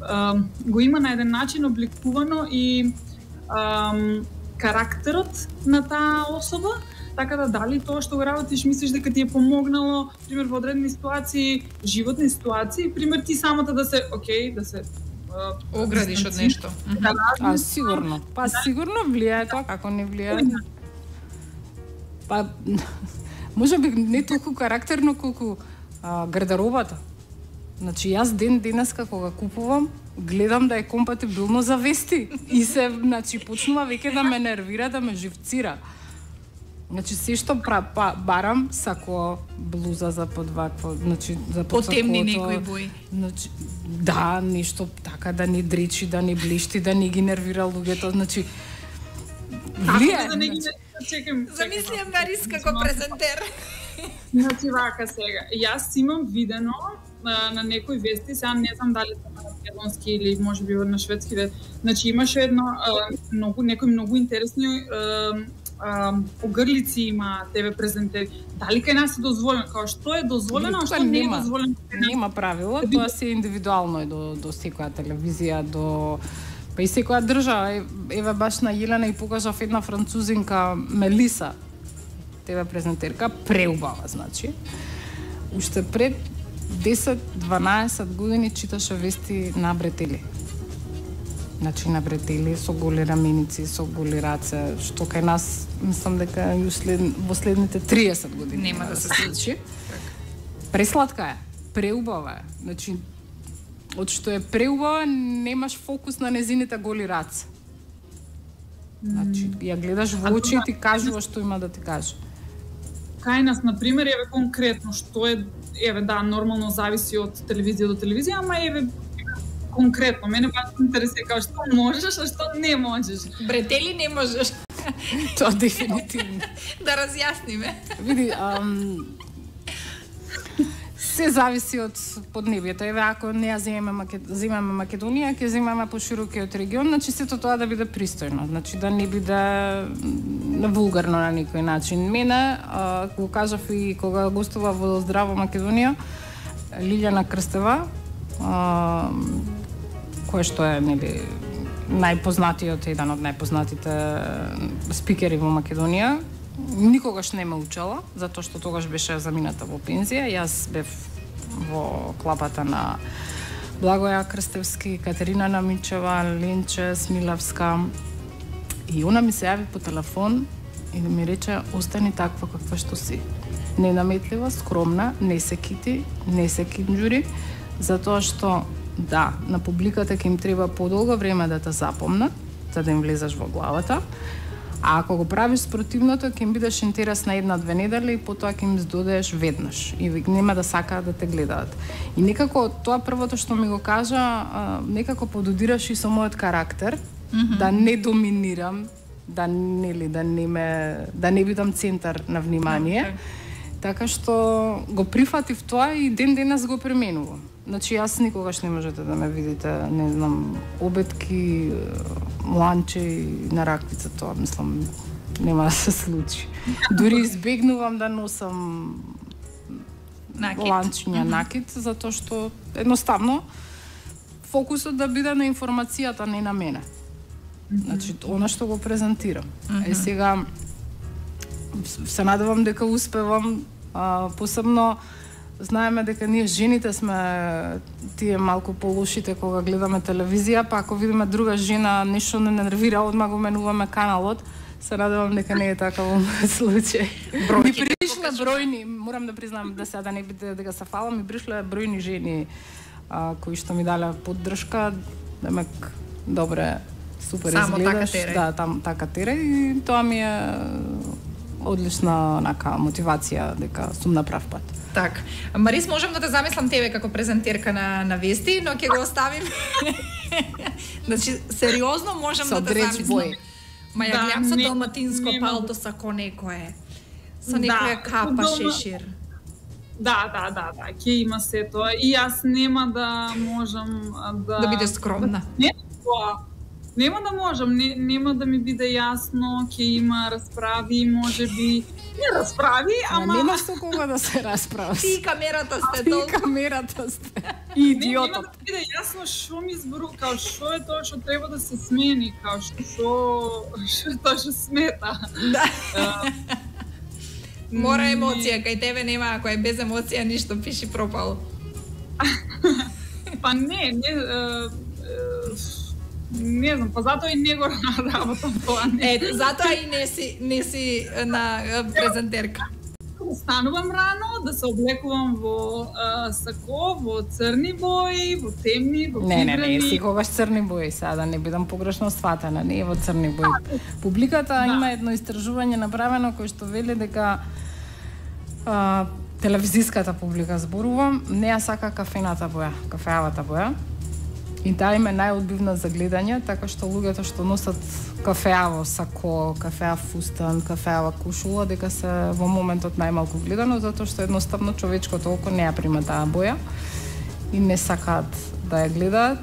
S11: а, го има на еден начин обликувано и а, карактерот на таа особа, така да дали тоа што го работиш мислиш дека ти е помогнало, пример во одредени ситуации, животни ситуации, пример ти самата да се, окей, да се а,
S9: оградиш од нешто.
S10: Да, а сигурно. Па сигурно влијае тоа, како не влијае. Па може би не толку карактерно колку а, гардеробата. Значи јас ден денеска кога купувам, гледам да е компатибилно за вести и се, значи почнува веќе да ме нервира, да ме живцира. Значи се што пра, па, барам сако блуза за под вакво, значи за под
S9: потемни некои бои.
S10: Значи да, нешто така да не дречи, да не блешти, да не ги нервира луѓето, значи влие.
S11: Да не ги чекам.
S9: Замислям Марис како презентер.
S11: Значи вака сега, јас имам видено на, на некои вести, сега не знам дали се на македонски или може би на шведски, значи имаше едно а, многу некои многу интересни а, а, огрлици има тебе презентери. Дали кај нас е дозволено? Као што е дозволено, а што не е дозволено?
S10: Нема правило, тоа се индивидуално е до до секоја телевизија, до па и секоја држава. Еве баш на Јелена и покажав една французинка Мелиса, тебе презентерка, преубава, значи. Уште пред десет-дванаесет години читаше вести на бретели. Значи на бретели со голи раменици, со голи раце, што кај нас мислам дека и услед, во следните триесет години
S9: нема да се случи.
S10: Пресладка е, преубава е. Значи од што е преубава, немаш фокус на незините голи раце. Значи ја гледаш во очи и ти кажува што има да ти каже.
S11: Кај нас, например, еве конкретно што е, еве да, нормално зависи од телевизија до телевизија, ама еве конкретно мене баш интересира како што можеш, а што не можеш.
S9: Бретели не можеш.
S10: Тоа дефинитивно.
S9: Да разјасниме.
S10: Види, ам, се зависи од поднебието. Еве ако не ја земеме Макед... земеме Македонија, ќе земеме поширокиот регион, значи сето тоа да биде пристојно, значи да не биде вулгарно на некој начин. Мене, а, го кажав и кога гостува во Здраво Македонија, Лилјана Крстева, а, кој што е нели најпознатиот, еден од најпознатите спикери во Македонија, никогаш не ме учела, затоа што тогаш беше замината во пензија. Јас бев во клапата на Благоја Крстевски, Катерина Намичева, Ленче Смилавска. И она ми се јави по телефон и да ми рече: остани таква каква што си. Ненаметлива, скромна, не се кити, не се кинџури, затоа што да, на публиката ќе им треба подолго време да те запомнат, за да им влезеш во главата. А ако го правиш спротивното, ќе им бидеш интересна една-две недели и потоа ќе им здодеш веднаш и нема да сакаат да те гледаат. И некако тоа првото што ми го кажа, некако пододираш и со мојот карактер, mm-hmm. да не доминирам, да нели да не ме да не бидам центар на внимание. Okay. Така што го прифатив тоа и ден денес го применувам. Значи јас никогаш не можете да ме видите, не знам, обетки, ланче на раквица, тоа мислам нема да се случи. Дури избегнувам да носам накид. Ланчиња mm-hmm. накид, затоа што едноставно фокусот да биде на информацијата, не на мене. Mm-hmm. Значи, она што го презентирам. Mm-hmm. Е сега се надевам дека успевам, а, посебно знаеме дека ние жените сме тие малку полошите кога гледаме телевизија, па ако видиме друга жена нешто не нервира, одма го менуваме каналот. Се надевам дека не е така во мојот случај. Ми пришле бројни, морам да признам да сега да не биде дека се фалам, ми пришле бројни жени а, кои што ми дале поддршка, демек добре, супер
S9: само
S10: изгледаш.
S9: Така
S10: да, там така тере и тоа ми е одлична нака мотивација дека сум на прав пат.
S9: Так. Марис, можам да те замислам тебе како презентерка на на вести, но ќе го оставим. Значи, сериозно можам
S10: со
S9: да те замислам. Ма ја
S11: да,
S9: гледам со
S11: не,
S9: далматинско
S11: не,
S9: палто сако некое. Со
S11: да,
S9: некоја капа
S11: дома...
S9: шешир.
S11: Да, да, да, да, ќе има се тоа. И јас нема да можам да...
S9: Да бидеш скромна.
S11: Не, тоа. Нема да можам, не, нема да ми биде јасно, ќе има расправи, можеби не расправи, ама...
S10: Нема со кога да се расправи.
S9: Ти камерата сте
S10: Ти
S9: толку.
S10: камерата сте. И идиотот.
S11: Нема да биде јасно што ми збору, као што е тоа што треба да се смени, као што што тоа што смета.
S9: Да. Мора емоција, кај тебе нема, ако е без емоција ништо, пиши пропало.
S11: Па не, не, не знам, па затоа и не го работам тоа.
S9: Е, затоа и не си, не си на презентерка.
S11: станувам рано, да се облекувам во а, сако, во црни бои, во темни, во
S10: Не, не,
S11: фибрени.
S10: не, секогаш црни бои, сега да не бидам погрешно сватена, не е во црни бои. Публиката да. има едно истражување направено кој што вели дека а, телевизиската публика, зборувам, не ја сака кафената боја, кафеавата боја. И таа им е најодбивна за гледање, така што луѓето што носат кафеаво сако, кафеав фустан, кафеава кушула, дека се во моментот најмалку гледано, затоа што едноставно човечкото око не ја прима таа боја и не сакаат да ја гледаат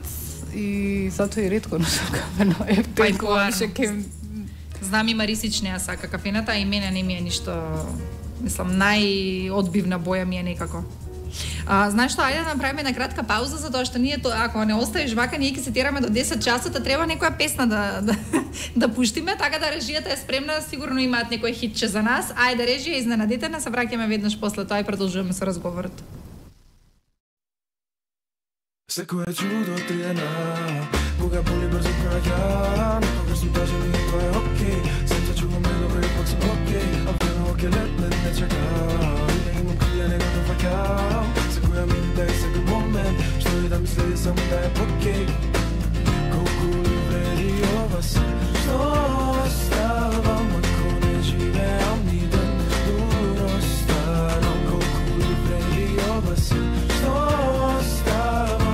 S10: и затоа и ретко носат кафено. Е,
S9: Па, знам и Марисич не ја сака кафената, а и мене не ми е ништо, мислам, најодбивна боја ми е некако. А, знаеш што, ајде да направиме една кратка пауза, затоа што ние, то, ако не оставиш вака, ние ќе се тераме до десет часот, а треба некоја песна да, да, да пуштиме, така да режијата е спремна, сигурно имаат некој хитче за нас. Ајде, режија, изненадите не, се враќаме веднаш после тоа и продолжуваме со разговорот.
S12: Секој е чудо триена, кога боли брзо праќа, некогаш сум тажен и тоа е окей, сам се чувам недобро и пак сум окей, а време оке летне не чака, не имам крија него да факам, секоја минута и секој момент, што и да мисли само да е окей, колку ли вреди ова се, што оставам ако не живеам ни ден, дуро старам, колку ли вреди ова се, што оставам.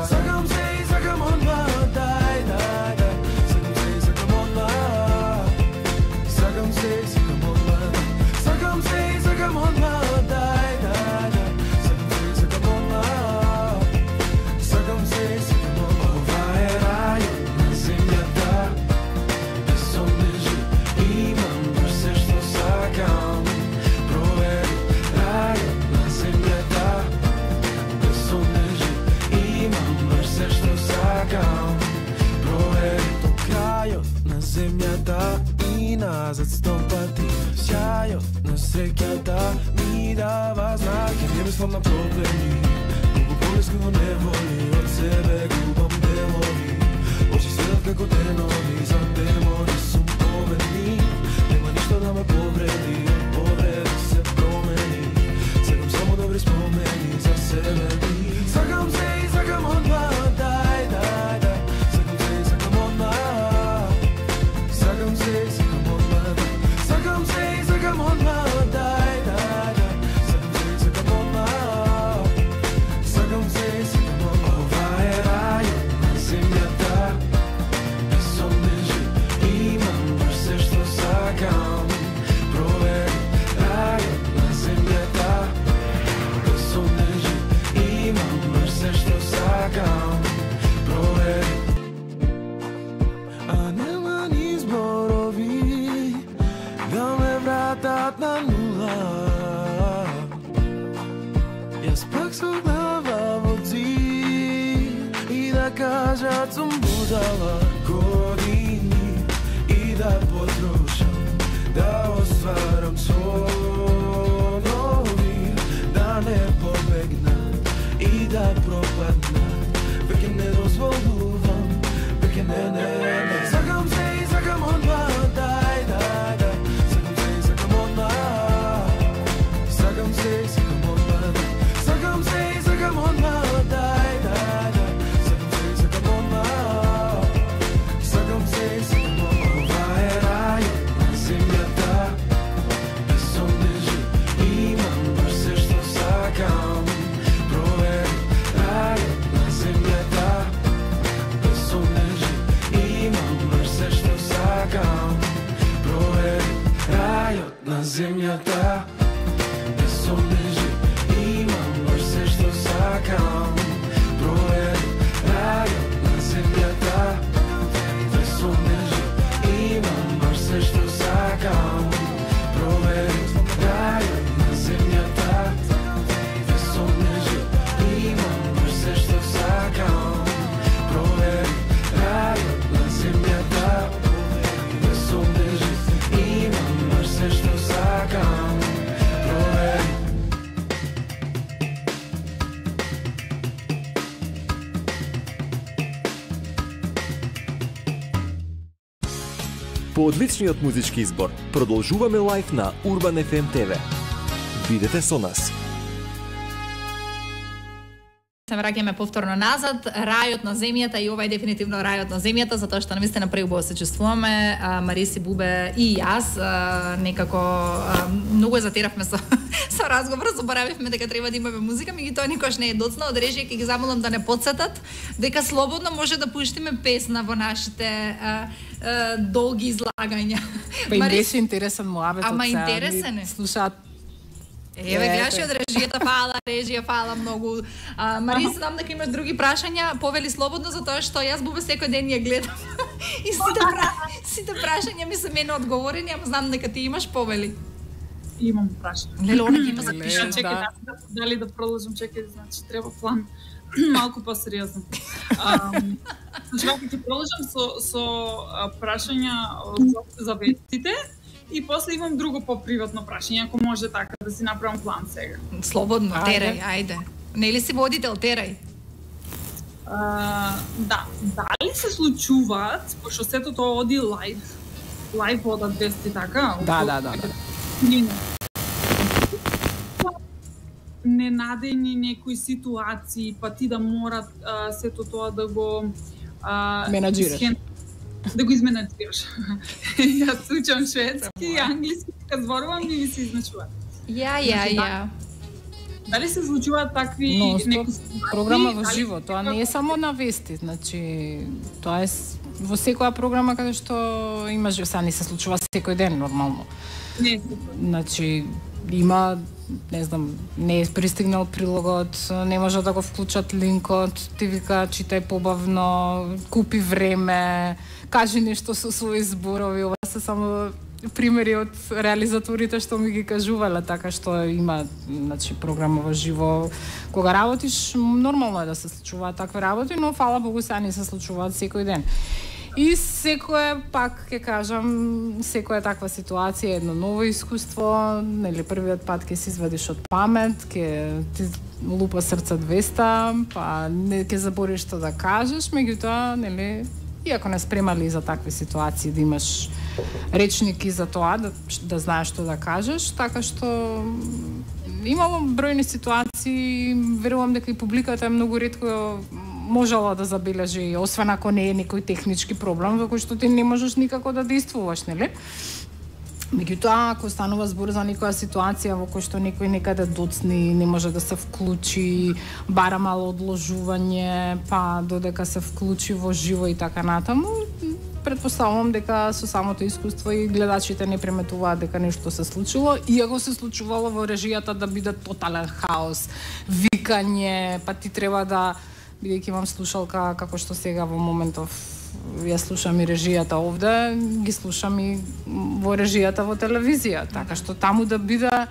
S12: Сакам се и сакам одма, дај, дај, дај. Сакам се и сакам одма. Сакам се и сакам одма. Сакам се и сакам одма, дај, дај, дај. Сакам се и сакам одма. Сакам се и сакам одма. Ова е рајот на земјата, без сонежи имам баш се што сакам. Провери рајот на земјата, без сонежи имам баш се што сакам. Провери до крајот на земјата и назад сто пати. Сјајот на среќата ми дава знак. Не мислам на проблеми, многу полеско не воли. Од себе губам делови, очи следат како денови. За демони сум победни, нема ништо да ме повреди. Од повреди се промени, секам само добри спомени за себе ми. Сакам се и сакам одма, дај, дај, дај. Сакам се и сакам одма. Сакам се и сакам одма. Сакам се и сакам одма, дај, дај, дај. Сакам се и сакам одма. Сакам се и сакам одма. Ова е рајот на земјата, без сонежи имам баш се што сакам. Провери рајот на земјата, без сонежи имам баш се што сакам. Провери. А нема ни зборови да ме вратат на нула. Јас пак со глава во зид и да кажат сум будала. Години и да потрошам, да остварам сонови, да не побегнат и да пропаднат. Веќе не дозволувам, веќе не, не, не. Сакам се и сакам одма, дај, дај, дај. Сакам се и сакам одма. Сакам се и сакам одма. Сакам се и сакам одма, дај, дај, дај. Сакам се и сакам одма. Сакам се и сакам одма. Ова е рајот на земјата, без сонежи имам баш се што сакам. Провери рајот на земјата, без сонежи имам баш се што сакам. Провери рајот на земјата, без сонежи имам баш се што сакам. Провери рајот на земјата, без сонежи имам баш се што сакам. Провери рајот на земјата, без сонежи имам баш се што сакам. Провери рајот на земјата, без сонежи имам баш се што сакам.
S8: По одличниот музички избор, продолжуваме лайв на Урбан еф ем Т В. Бидете со нас.
S9: Се враќаме повторно назад, рајот на земјата, и ова е дефинитивно рајот на земјата, затоа што навистина преубаво се чувствуваме, Мариси, Бубе и јас, а, некако а, многу затеравме со, со разговор, заборавивме дека треба да имаме музика, меѓутоа никош не е доцна, од режија ќе ги замолам да не потсетат, дека слободно може да пуштиме песна во нашите а, а, долги излагања.
S10: Па им беше интересен муабет.
S9: Ама интересен е.
S10: Слушаат.
S9: Еве, гледаш од режијата, фала, режија, фала многу. А, Мариса, знам дека имаш други прашања, повели слободно, затоа што јас Бубе секој ден ја гледам. И сите, пра... сите прашања ми се мене одговорени, ама знам дека ти имаш, повели.
S11: Имам прашање.
S9: Леле, она ги има запишано.
S11: Чекај, да. Дали да продолжам, чекај, значи треба план малку посериозно. Значи, вака ќе продолжам со, со прашања за вестите. И после имам друго поприватно прашање, ако може така да си направам план сега.
S9: Слободно, терај, ајде. Нели си водител, терај?
S11: Uh, да, дали се случуваат, пошто сето тоа оди лайв, лайв одат вести така?
S10: Да, да, да, да.
S11: Ненадени некои ситуации, па ти да морат uh, сето тоа да го uh,
S10: менаџираш.
S11: Да го изменаџираш. Јас учам шведски и англиски, кога зборувам ми се изначува.
S9: Ја, ја, ја.
S11: Дали се случуваат такви
S10: некои програма во живо, тоа не е само на вести, значи тоа е во секоја програма каде што имаш, сега не се случува секој ден нормално.
S11: Не.
S10: Значи има, не знам, не е пристигнал прилогот, не може да го вклучат линкот, ти вика читај побавно, купи време, кажи нешто со своји зборови. Ова се само примери од реализаторите што ми ги кажувале, така што има, значи, програма во живо. Кога работиш, нормално е да се случуваат такви работи, но фала Богу сега не се случуваат секој ден. И секој, пак ќе кажам, секоја таква ситуација е едно ново искуство, нели првиот пат ќе се извадиш од памет, ќе ти лупа срце двеста, па не ќе забориш што да кажеш, меѓутоа, нели, иако не спремали за такви ситуации, да имаш речники за тоа, да, да знаеш што да кажеш, така што имало бројни ситуации, верувам дека и публиката е многу ретко можела да забележи, освен ако не е некој технички проблем во кој што ти не можеш никако да действуваш, нели? Меѓутоа, ако станува збор за некоја ситуација во кој што некој некаде доцни, не може да се вклучи, бара мало одложување, па додека се вклучи во живо и така натаму, претпоставувам дека со самото искуство и гледачите не приметуваат дека нешто се случило, иако се случувало во режијата да биде тотален хаос, викање, па ти треба да, бидејќи имам слушалка како што сега во моментов ја слушам и режијата овде, ги слушам и во режијата во телевизија, така што таму да биде,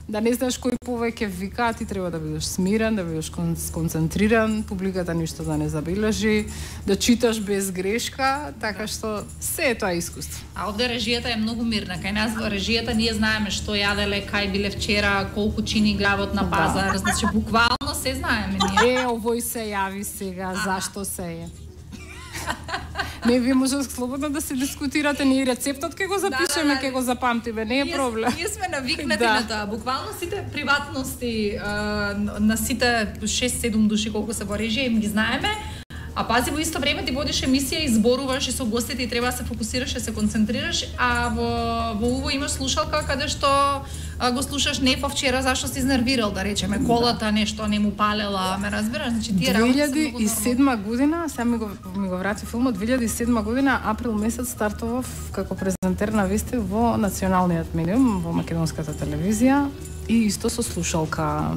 S10: да не знаеш кој повеќе вика, ти треба да бидеш смирен, да бидеш концентриран, публиката ништо да не забележи, да читаш без грешка, така што се е тоа искуство.
S9: А овде режијата е многу мирна. Кај нас во режијата ние знаеме што јаделе, кај биле вчера, колку чини главот на пазар, да. Значи буквално се знаеме ние.
S10: Е, овој се јави сега, а зашто се е? Не, вие може слободно да се дискутирате, ние рецептот ќе го запишеме, ќе да, да, да. го запамтиме, не е проблем.
S9: Ние сме навикнати да. на тоа. Буквално сите приватности а, на сите шест-седум души колку се во режија им ги знаеме. А пази, во исто време ти водиш емисија и зборуваш и со гостите и треба да се фокусираш и се концентрираш, а во во уво имаш слушалка каде што а, го слушаш не по вчера зашто си изнервирал, да речеме, колата нешто не му палела, ме разбираш, значи тие работи се
S10: две илјади и седма година, сега ми го ми го врати филмот, две илјади и седма година април месец стартував како презентер на вести во националниот медиум во македонската телевизија и исто со слушалка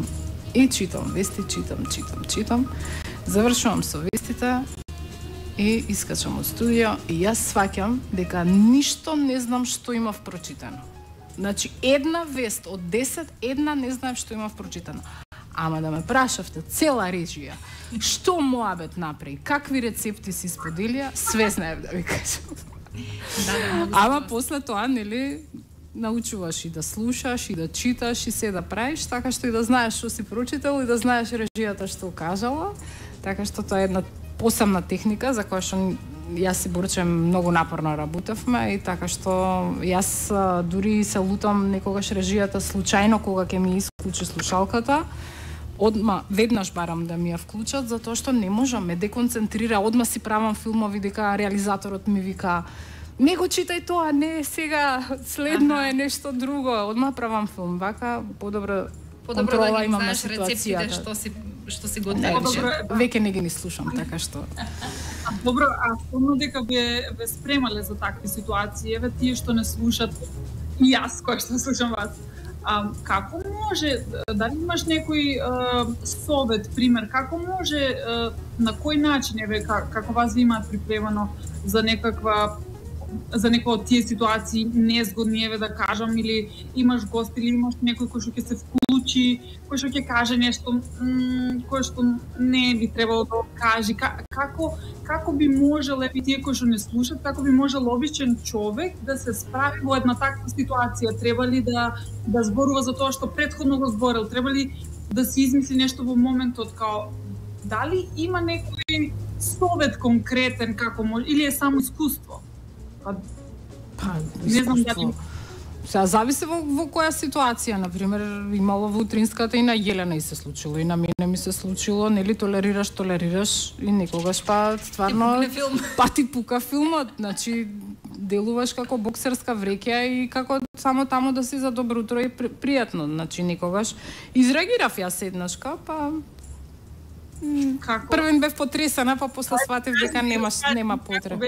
S10: и читам вести, читам, читам, читам. Завршувам со вестите и искачам од студио и јас сваќам дека ништо не знам што имав прочитано. Значи, една вест од десет, една не знаев што имав прочитано. Ама да ме прашавте цела режија, што муабет направи, какви рецепти си споделија, све знаев да ви кажам. Да, да, ама после тоа, нели, научуваш и да слушаш, и да читаш, и се да правиш, така што и да знаеш што си прочитал и да знаеш режијата што кажала. Така што тоа е една посебна техника за која што јас си Борчем многу напорно работевме и така што јас а, дури се лутам некогаш режијата случајно кога ќе ми исклучи слушалката, одма веднаш барам да ми ја вклучат затоа што не можам, ме деконцентрира, одма си правам филмови дека реализаторот ми вика не го читај тоа, не сега следно е нешто друго, одма правам филм, вака подобро
S9: Подобро
S10: контрола
S9: да ги
S10: имам на
S9: знаеш рецептите
S10: ситуацијата.
S9: што си што си
S10: Не,
S9: готвиш.
S10: веќе- веќе не ги ни слушам, така што
S11: А, добро, а спомнам дека ве, ве спремале за такви ситуации, еве тие што не слушат и јас кој што слушам вас. А, како може, дали имаш некој а, совет, пример, како може, а, на кој начин, еве, как, како вас ви имаат припремано за некаква за некоја од тие ситуации незгодни, еве да кажам, или имаш гост или имаш некој кој што ќе се вклучи, кој што ќе каже нешто м, кој што не би требало да каже, Ка, како како би можел, еве тие кои што не слушат, како би можел обичен човек да се справи во една таква ситуација? Треба ли да да зборува за тоа што претходно го зборел? Треба ли да се измисли нешто во моментот, као дали има некој совет конкретен како може, или е само искуство? Па,
S10: па
S11: не знам
S10: искуство.
S11: дали
S10: Сега зависи во, во која ситуација, на пример, имало во утринската и на Јелена и се случило, и на мене ми се случило, нели толерираш, толерираш и некогаш па стварно па ти пука филмот, значи делуваш како боксерска вреќа и како само таму да си за добро утро и при, пријатно, значи некогаш изреагирав јас еднашка, па
S11: како
S10: првен бев потресена, па после сватев дека немаш нема потреба.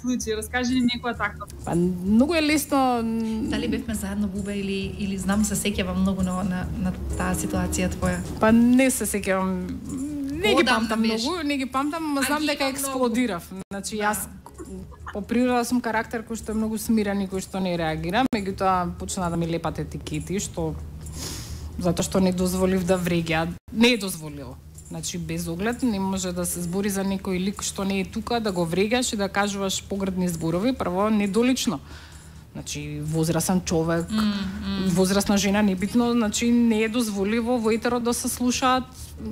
S11: Случај, раскажи ни некоја таква.
S10: Па многу е лесно.
S9: Дали бевме заедно, Бубе, или или знам се сеќавам многу на на, на таа ситуација твоја?
S10: Па не се сеќавам. Не ги
S9: Одамна
S10: памтам
S9: беше.
S10: многу, не ги памтам, ма знам
S9: ги
S10: дека
S9: има
S10: експлодирав. Значи јас по природа сум карактер кој што е многу смирен и кој што не реагира, меѓутоа почна да ми лепат етикети, што затоа што не дозволив да вреѓа, не е дозволил. Значи без оглед не може да се збори за некој лик што не е тука, да го врегаш и да кажуваш погредни зборови, прво недолично. Значи возрасен човек, mm, mm. возрасна жена, небитно, значи не е дозволиво во етерот да се слушаат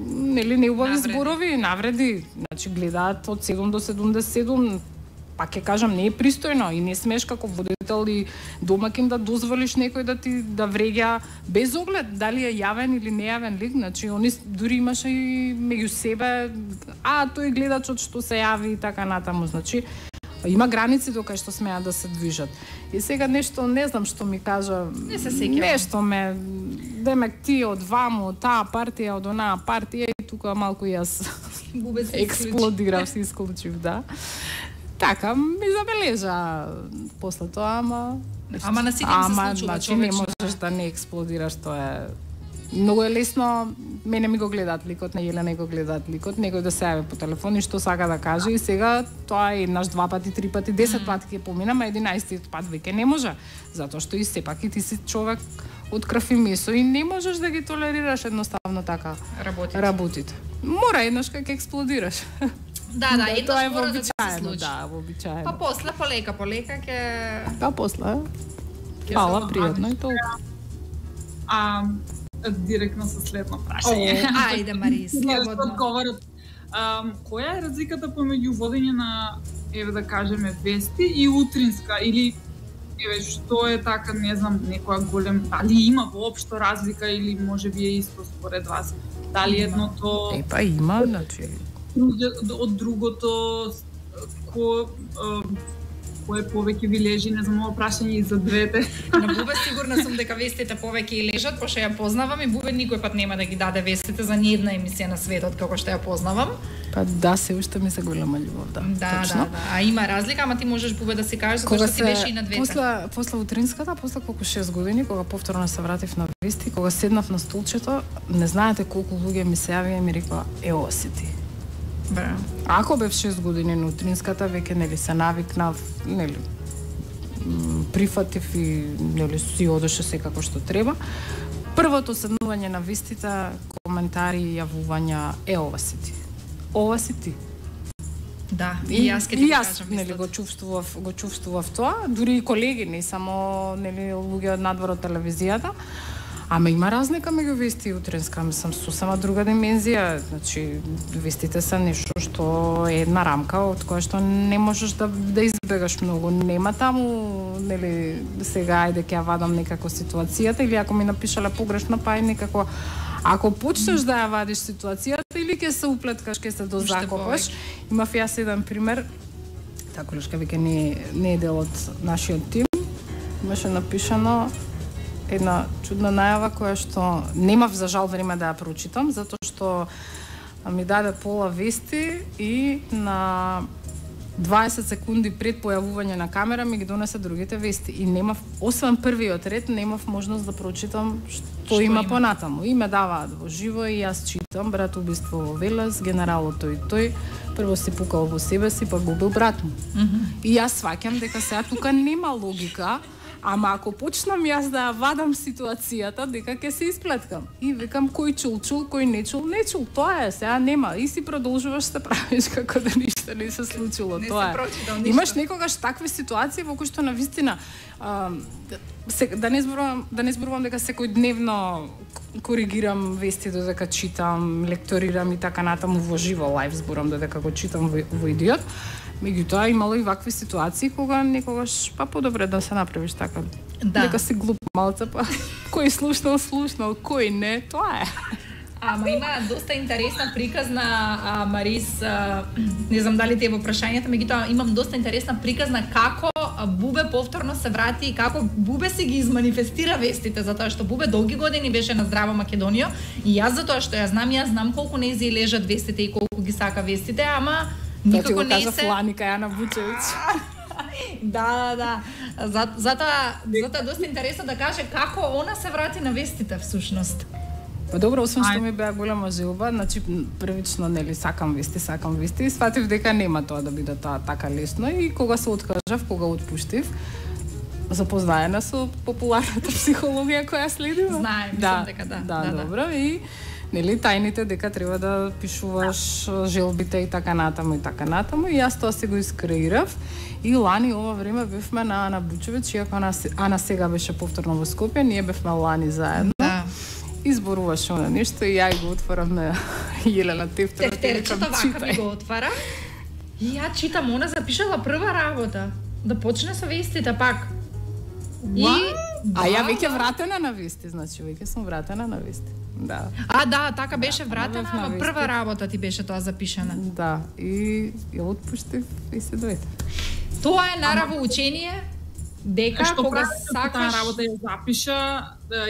S10: нели неубави
S9: Навреди.
S10: зборови, навреди. Значи гледаат од седум до седумдесет и седум, па ќе кажам не е пристојно и не смеш како водител и домакин да дозволиш некој да ти да вреѓа без оглед дали е јавен или нејавен лик, значи они дури имаше и меѓу себе, а тој гледачот што се јави и така натаму, значи има граници до кај што смеат да се движат. И сега нешто не знам што ми кажа,
S9: Не се сеќавам.
S10: нешто ме демек ти од ваму, од таа партија, од онаа партија и тука малку јас
S9: Бубе се
S10: експлодирав, се исклучив, да. Така, ми забележа после тоа, ама...
S9: Ама на сите им се
S10: Ама,
S9: случува,
S10: значи, не
S9: човече.
S10: можеш да не експлодираш, тоа е... Многу е лесно, мене ми го гледаат ликот, на Јелена го гледаат ликот, некој да се јави по телефон и што сака да каже и сега тоа е еднаш, два пати, три пати, десет пати ќе помина, ма единаесеттиот пат веќе не може, затоа што и сепак и ти си човек од крв и месо и не можеш да ги толерираш едноставно така
S9: Работите.
S10: работите. Мора еднаш кога ќе експлодираш.
S9: Да, да, еднаш
S10: тоа е
S9: мора да ти се
S10: вообичаено,
S9: случи.
S10: да, вообичаено.
S9: Па после, полека, полека ќе
S10: Па после.
S11: Ќе
S10: Фала,
S11: се
S10: пријатно и
S11: најдеш.
S10: толку.
S11: А директно со следно прашање.
S9: О, ајде, Мари, слободно.
S11: Одговорот. Um, која е разликата помеѓу водење на, еве да кажеме, вести и утринска, или еве што е така, не знам, некоја голем, дали има воопшто разлика или можеби е исто според вас? Дали едното
S10: Е, па има, значи...
S11: друге- од другото, ко um, кој повеќе ви лежи, не знам, ова прашање и за двете.
S9: На Бубе сигурна сум дека вестите повеќе и лежат, пошто ја познавам и Бубе никој пат нема да ги даде вестите за ни една емисија на светот како што ја познавам.
S10: Па да, се уште ми се голема љубов, да.
S9: Да,
S10: точно.
S9: да, да. А има разлика, ама ти можеш Бубе да си кажеш затоа
S10: Кога
S9: што ти беше и на двете.
S10: после после утринската, после колку шест години, кога повторно се вратив на вести, кога седнав на столчето, не знаете колку луѓе ми се јавија и ми рекоа: "Е, оси ти."
S9: Бра.
S10: Ако бев шест години на утринската, веќе нели се навикнав, нели м, прифатив и нели си одеше секако што треба. Првото седнување на вестите, коментари и јавувања: "Е, ова си ти." Ова си ти.
S9: Да, и јас ќе ти
S10: и
S9: го
S10: јас,
S9: кажам
S10: нели
S9: истото.
S10: го чувствував, го чувствував тоа, дури и колеги, не само нели луѓе од надвор од телевизијата. Ама има разлика меѓу вести и утренска, мислам, сосема друга димензија. Значи, вестите се нешто што е една рамка од која што не можеш да, да избегаш многу. Нема таму, нели, сега ајде ќе ја вадам некако ситуацијата, или ако ми напишале погрешно, па е некако. Ако почнеш да ја вадиш ситуацијата, или ќе се уплеткаш, ќе се дозакопаш. Имав јас еден пример, таа колешка веќе не, не е дел од нашиот тим, имаше напишано една чудна најава која што немав за жал време да ја прочитам, затоа што ми даде пола вести и на дваесет секунди пред појавување на камера ми ги донесе другите вести и немав, освен првиот ред, немав можност да прочитам што, што има, има понатаму. И ме даваат во живо и јас читам брат убиство во Велес, генералот тој тој, прво си пукал во себе си, па го убил брат му. Mm -hmm. И јас сваќам дека сега тука нема логика. Ама ако почнам јас да ја вадам ситуацијата, дека ќе се исплеткам. И викам кој чул, чул, кој не чул, не чул. Тоа е, сега нема. И си продолжуваш се правиш како да ништо не се случило.
S9: Не
S10: тоа
S9: се
S10: е.
S9: прочитал ништо.
S10: Имаш некогаш такви ситуации во кои што навистина а, се, да не зборувам, да не зборувам дека секојдневно коригирам вести додека читам, лекторирам и така натаму во живо лајв зборам додека го читам во, во Идиот. Меѓутоа имало и вакви ситуации кога некогаш па подобре да се направиш така.
S9: Да.
S10: Дека си глуп малце, па кој слушнал, слушнал, кој не, тоа е.
S9: Ама има доста интересна приказна, а, Марис, а, не знам дали ти е во прашањето, меѓутоа имам доста интересна приказна како Бубе повторно се врати и како Бубе си ги изманифестира вестите, затоа што Бубе долги години беше на Здрава Македонија и јас затоа што ја знам, јас знам колку нејзи лежат вестите и колку ги сака вестите, ама никако не се...
S10: Фланика Јана Бучевиќ.
S9: Да, да, да. За, затоа, затоа е доста интересно да каже како она се врати на вестите всушност.
S10: Па добро, освен што ми беа голема желба, значи првично нели сакам вести, сакам вести и сватив дека нема тоа да биде тоа така лесно и кога се откажав, кога отпуштив, запознаена со популарната психологија која следим.
S9: Знаем, мислам
S10: да,
S9: дека да.
S10: Да,
S9: да,
S10: добро да. И нели тајните дека треба да пишуваш желбите и така натаму и така натаму и јас тоа се го искреирав и лани ова време бевме на Ана Бучевиќ, иако Ана, Ана сега беше повторно во Скопје, ние бевме лани заедно. Да. Изборуваше она нешто и ја го отворам на Јелена Тефтер.
S9: Тефтерчето вака ми го отвара. И ја читам, она запишала прва работа. Да почне со вестите пак.
S10: И а ја веќе вратена на вести, значи веќе сум вратена на вести. Да.
S9: А да, така беше вратена, ама прва работа ти беше тоа запишана.
S10: Да, и ја отпуштив и се дојде.
S9: Тоа е нараво учение. Дека
S11: што
S9: кога
S11: сакаш таа работа ја запиша,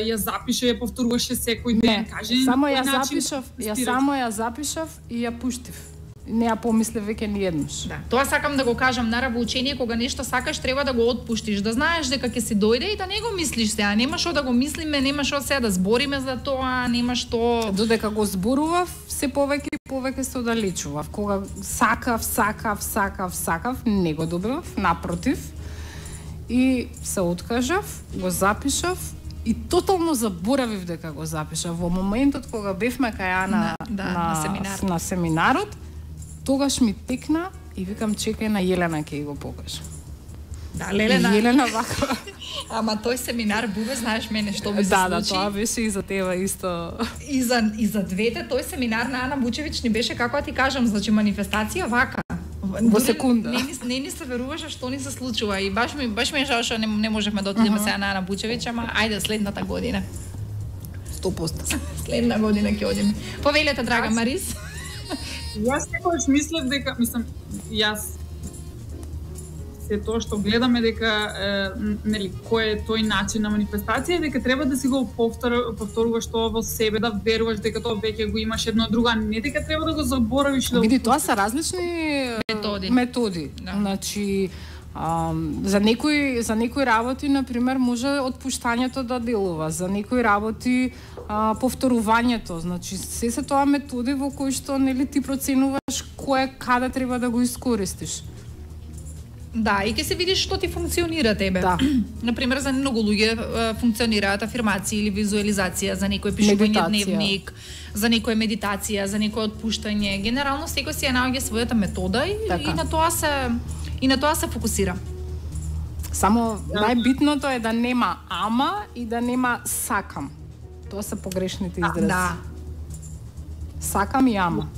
S11: ја запиша, ја повторуваше секој ден, каже.
S10: Само ја запишав, ја само ја запишав и ја пуштив. Не ја помислев веќе ни еднаш.
S9: Да, тоа сакам да го кажам, нараво учение, кога нешто сакаш треба да го отпуштиш, да знаеш дека ќе си дојде и да не го мислиш сега, нема што да го мислиме, нема што сега да збориме за тоа, нема што.
S10: Додека го зборував, се повеќе и повеќе се оддалечував. Кога сакав, сакав, сакав, сакав, не го добивав, напротив. И се откажав, го запишав и тотално заборавив дека го запишав. Во моментот кога бевме кај Ана
S9: на, да, на, на, семинар.
S10: на семинарот, тогаш ми текна и викам чекај на Јелена ќе го покажам.
S9: Да, Лелена.
S10: Јелена вака.
S9: Ама тој семинар, Бубе, знаеш мене што ми се
S10: да,
S9: случи.
S10: Да, тоа беше и за тебе исто.
S9: И за, и за двете, тој семинар на Ана Бучевиќ ни беше, како ти кажам, значи манифестација вака.
S10: Во секунда.
S9: Не, не, не ни се веруваше што ни се случува и баш ми баш ми е жал што не, не можевме да отидеме uh -huh. сега на Ана Бучевиќ, ама ајде следната година.
S10: сто проценти.
S9: Следна година ќе одиме. Повелете, драга Марис.
S11: Јас секогаш мислев дека, мислам, јас се тоа што гледаме дека е, нели кој е тој начин на манифестација, дека треба да си го повтор, повторуваш тоа во себе, да веруваш дека тоа веќе го имаш едно друго, не дека треба да го заборавиш да.
S10: Види, тоа се различни
S9: методи.
S10: Методи. Да. Значи А, за некои за некои работи на пример може отпуштањето да делува, за некои работи а, повторувањето, значи се се тоа методи во кои што нели ти проценуваш кое каде треба да го искористиш.
S9: Да, и ќе се видиш што ти функционира тебе.
S10: Да.
S9: На пример, за многу луѓе функционираат афирмации или визуализација, за некој пишување дневник, за некој медитација, за некој отпуштање. Генерално секој си ја наоѓа својата метода и, и на тоа се и на тоа се фокусира.
S10: Само најбитното е да нема ама и да нема сакам. Тоа се погрешните изрази.
S9: Да.
S10: Сакам и ама.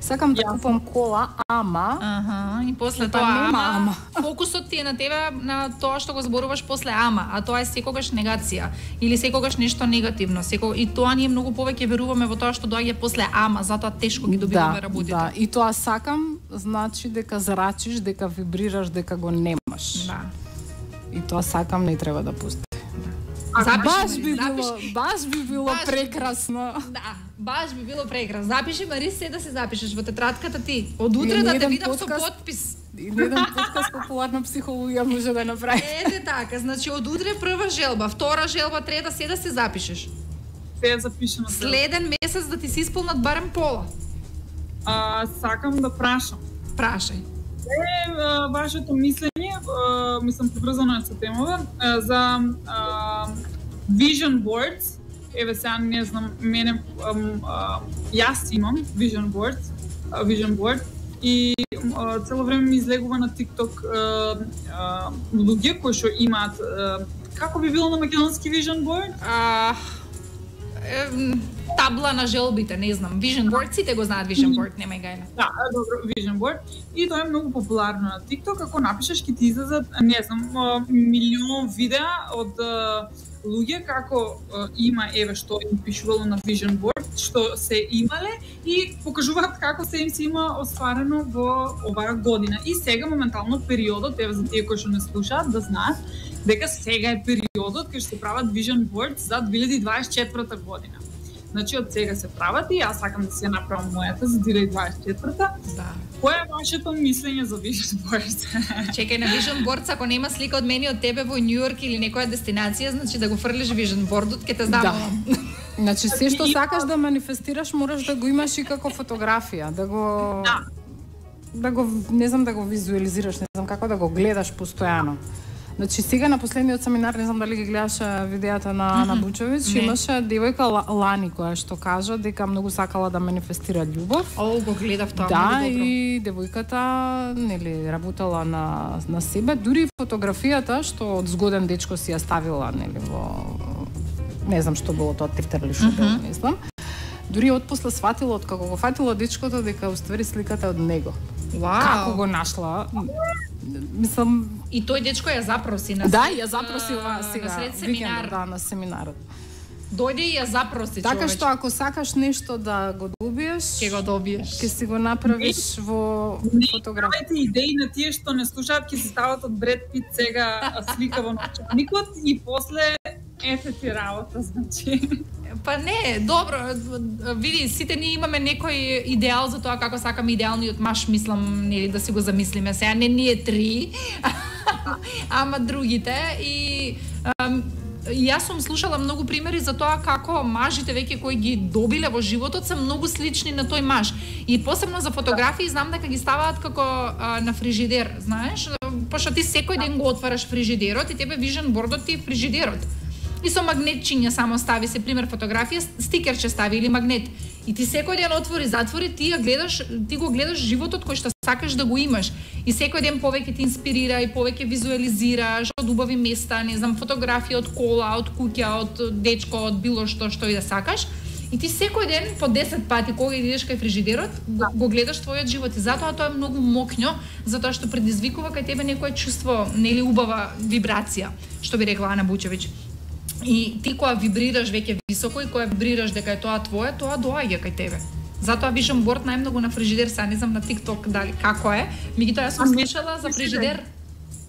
S10: Сакам да купам кола, ама...
S9: Аха, и после
S10: па
S9: тоа
S10: нема
S9: ама,
S10: ама.
S9: фокусот ти е на тебе, на тоа што го зборуваш после ама, а тоа е секогаш негација или секогаш нешто негативно. Секогаш... И тоа ние многу повеќе веруваме во тоа што доаѓа после ама, затоа тешко ги добиваме
S10: да,
S9: работите.
S10: Да, и тоа сакам, значи дека зрачиш, дека вибрираш, дека го немаш.
S9: Да.
S10: И тоа сакам не треба да пусти.
S9: Запиши,
S10: баш би
S9: запиши.
S10: било, баш би било
S9: Баш би-
S10: прекрасно.
S9: Да, баш би било прекрасно. Запиши, Мари, се да се запишеш во тетратката ти. Од утре
S10: И
S9: да те
S10: еден
S9: видам со
S10: подкаст-
S9: потпис.
S10: И не еден подкаст популарна психологија може да направи.
S9: Еде така, значи од утре прва желба, втора желба, трета, се да се запишеш.
S11: Се е запишено.
S9: Следен месец да ти се исполнат барем пола.
S11: А, сакам да прашам.
S9: Прашај.
S11: Е, а, вашето мислење, а, мислам приврзано е со темава, а, за а, vision boards. Еве сега не знам, мене ам, а, јас имам vision boards, а, vision board и а, цело време ми излегува на TikTok а, а, луѓе кои што имаат а, како би било на македонски vision board?
S9: А, е, табла на желбите, не знам. Vision board, сите го знаат vision board, немај гајле.
S11: Да, добро, vision board. И тоа е многу популарно на TikTok. Ако напишеш, ќе ти излезат, не знам, а, милион видеа од а, луѓе како а, има, еве што им пишувало на vision board, што се имале и покажуваат како се им се има остварено во оваа година. И сега моментално периодот, еве за тие кои што не слушаат, да знаат дека сега е периодот кај што се прават vision board за две илјади дваесет и четврта година. Значи од сега се прават и јас сакам да си ја направам мојата за две илјади дваесет и четврта.
S9: Да.
S11: Кој е вашето мислење за vision board?
S9: Чекај, на vision board, ако нема слика од мене и од тебе во Њу Йорк или некоја дестинација, значи да го фрлиш vision boardот, ќе те здамувам.
S10: Да. Значи се што сакаш да манифестираш, мораш да го имаш и како фотографија, да го
S11: Да.
S10: да го не знам да го визуализираш, не знам како да го гледаш постојано. Значи сега на последниот семинар, не знам дали ги гледаше видеата на на Бучовиќ,
S9: Не.
S10: имаше девојка Ла- Лани која што кажа дека многу сакала да манифестира љубов.
S9: О, го гледав тоа,
S10: Да,
S9: многу добро.
S10: и девојката нели работела на на себе, дури и фотографијата што од згоден дечко си ја ставила нели во не знам што било тоа Twitter или што било, не знам. Дури отпосле сватила од како го фатила дечкото дека уствари сликата е од него.
S9: Вау.
S10: Како го нашла? Мислам,
S9: И тој дечко ја запроси на
S10: да,
S9: сред,
S10: ја запроси ова
S9: а,
S10: сега
S9: на сред
S10: викендот,
S9: семинар.
S10: да, на семинарот.
S9: Дојде и ја запроси,
S10: Така
S9: човече.
S10: што ако сакаш нешто да го добиеш,
S9: Ќе го добиеш.
S10: ќе си го направиш во фотографија.
S11: Давајте идеи на тие што не слушаат, ќе се стават од Бред Пит сега слика во новчаникот и после ете ти работа, значи.
S9: Па не, добро, види, сите ние имаме некој идеал за тоа како сакаме идеалниот маж, мислам, нели да си го замислиме. Сега не ние три, ама другите и ам, јас сум слушала многу примери за тоа како мажите веќе кои ги добиле во животот се многу слични на тој маж. И посебно за фотографии знам дека ги ставаат како а, на фрижидер, знаеш, пошто ти секој ден го отвараш фрижидерот и тебе vision бордот ти е фрижидерот. И со магнетчиња само стави се пример фотографија, стикерче стави или магнет. И ти секој ден отвори, затвори, ти ја гледаш, ти го гледаш животот кој што сакаш да го имаш. И секој ден повеќе ти инспирира и повеќе визуализираш од убави места, не знам, фотографија од кола, од куќа, од дечко, од било што што и да сакаш. И ти секој ден по десет пати кога идеш кај фрижидерот, го, го гледаш твојот живот и затоа тоа е многу мокњо, затоа што предизвикува кај тебе некое чувство, нели убава вибрација, што би рекла Ана Бучевиќ. И ти кога вибрираш веќе високо и кога вибрираш дека е тоа твое, тоа доаѓа кај тебе. Затоа vision board најмногу на фрижидер, сега не знам на TikTok дали како е. Меѓутоа јас сум слушала за фрижидер.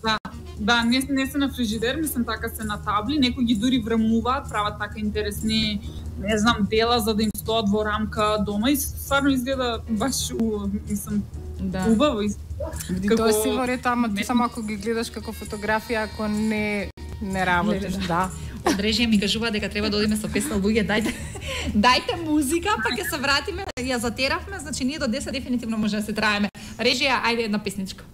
S11: Да, да, не, не се на фрижидер, мислам така се на табли, некои ги дури времуваат, прават така интересни, не знам, дела за да им стоат во рамка дома и стварно изгледа баш убаво, мислам,
S10: Да.
S11: убаво изгледа.
S10: Види, тоа е си во ред, ама ти само ако ги гледаш како фотографија, ако не не работиш, да.
S9: Од режија ми кажува дека треба да одиме со песна луѓе, дајте дајте музика, па ќе се вратиме, ја затеравме, значи ние до десет дефинитивно може да се траеме. Режија, ајде една песничка.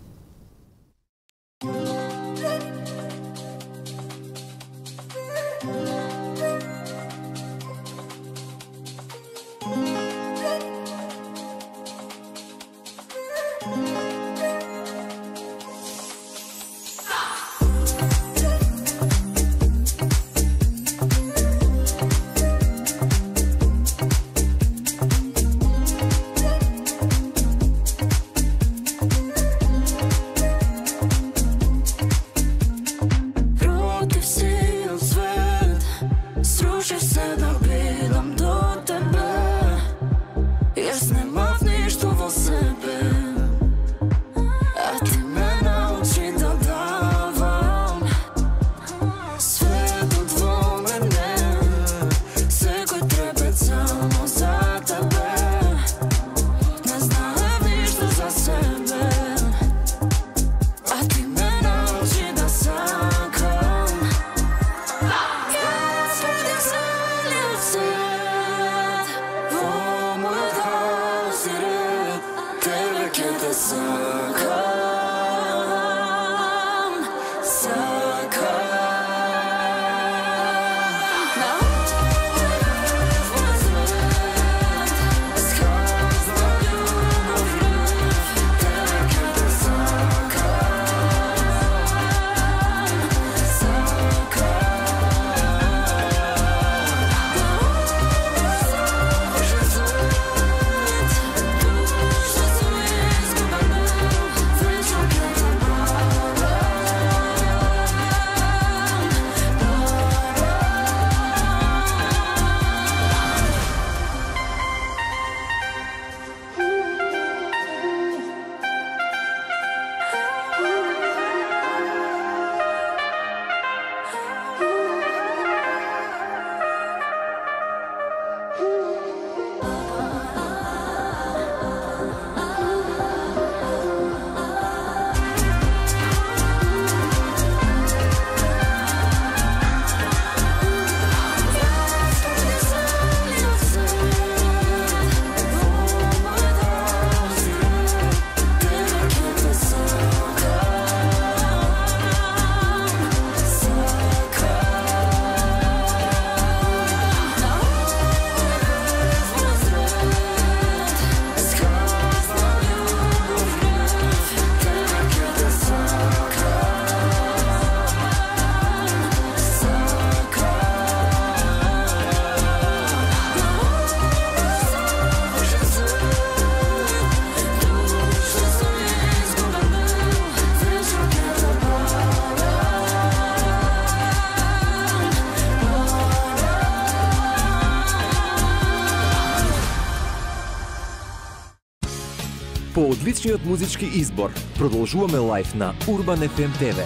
S8: По одличниот музички избор, продолжуваме лајф на Урбан еф ем те ве.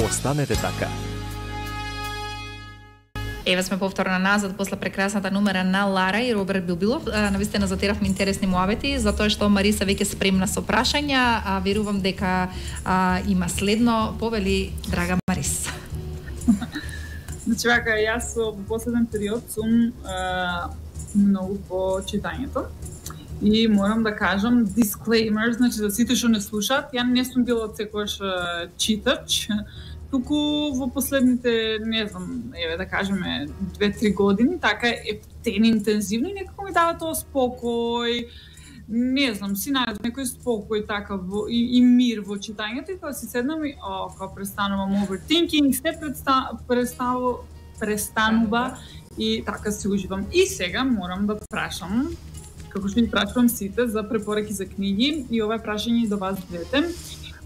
S8: Останете така.
S9: Еве сме повторно назад после прекрасната номера на Лара и Роберт Билбилов. Навистина затеравме интересни муавети, затоа што Мариса веќе спремна со прашања, а верувам дека а, има следно. Повели, драга Мариса.
S11: Значи, вака, јас во последен период сум а, многу по читањето. И морам да кажам disclaimer, значи за сите што не слушаат, ја не сум била од секојаш читач, туку во последните, не знам, еве да кажеме две-три години, така е ептен интензивно и некако ми дава тоа спокој, не знам, си најдов некој спокој така во, и, и мир во читањето и кога си седнам и о, кога престанувам overthinking, се преста, преставу, престанува и така се уживам. И сега морам да прашам, како што ви прашувам сите за препораки за книги и ова е прашање до вас двете.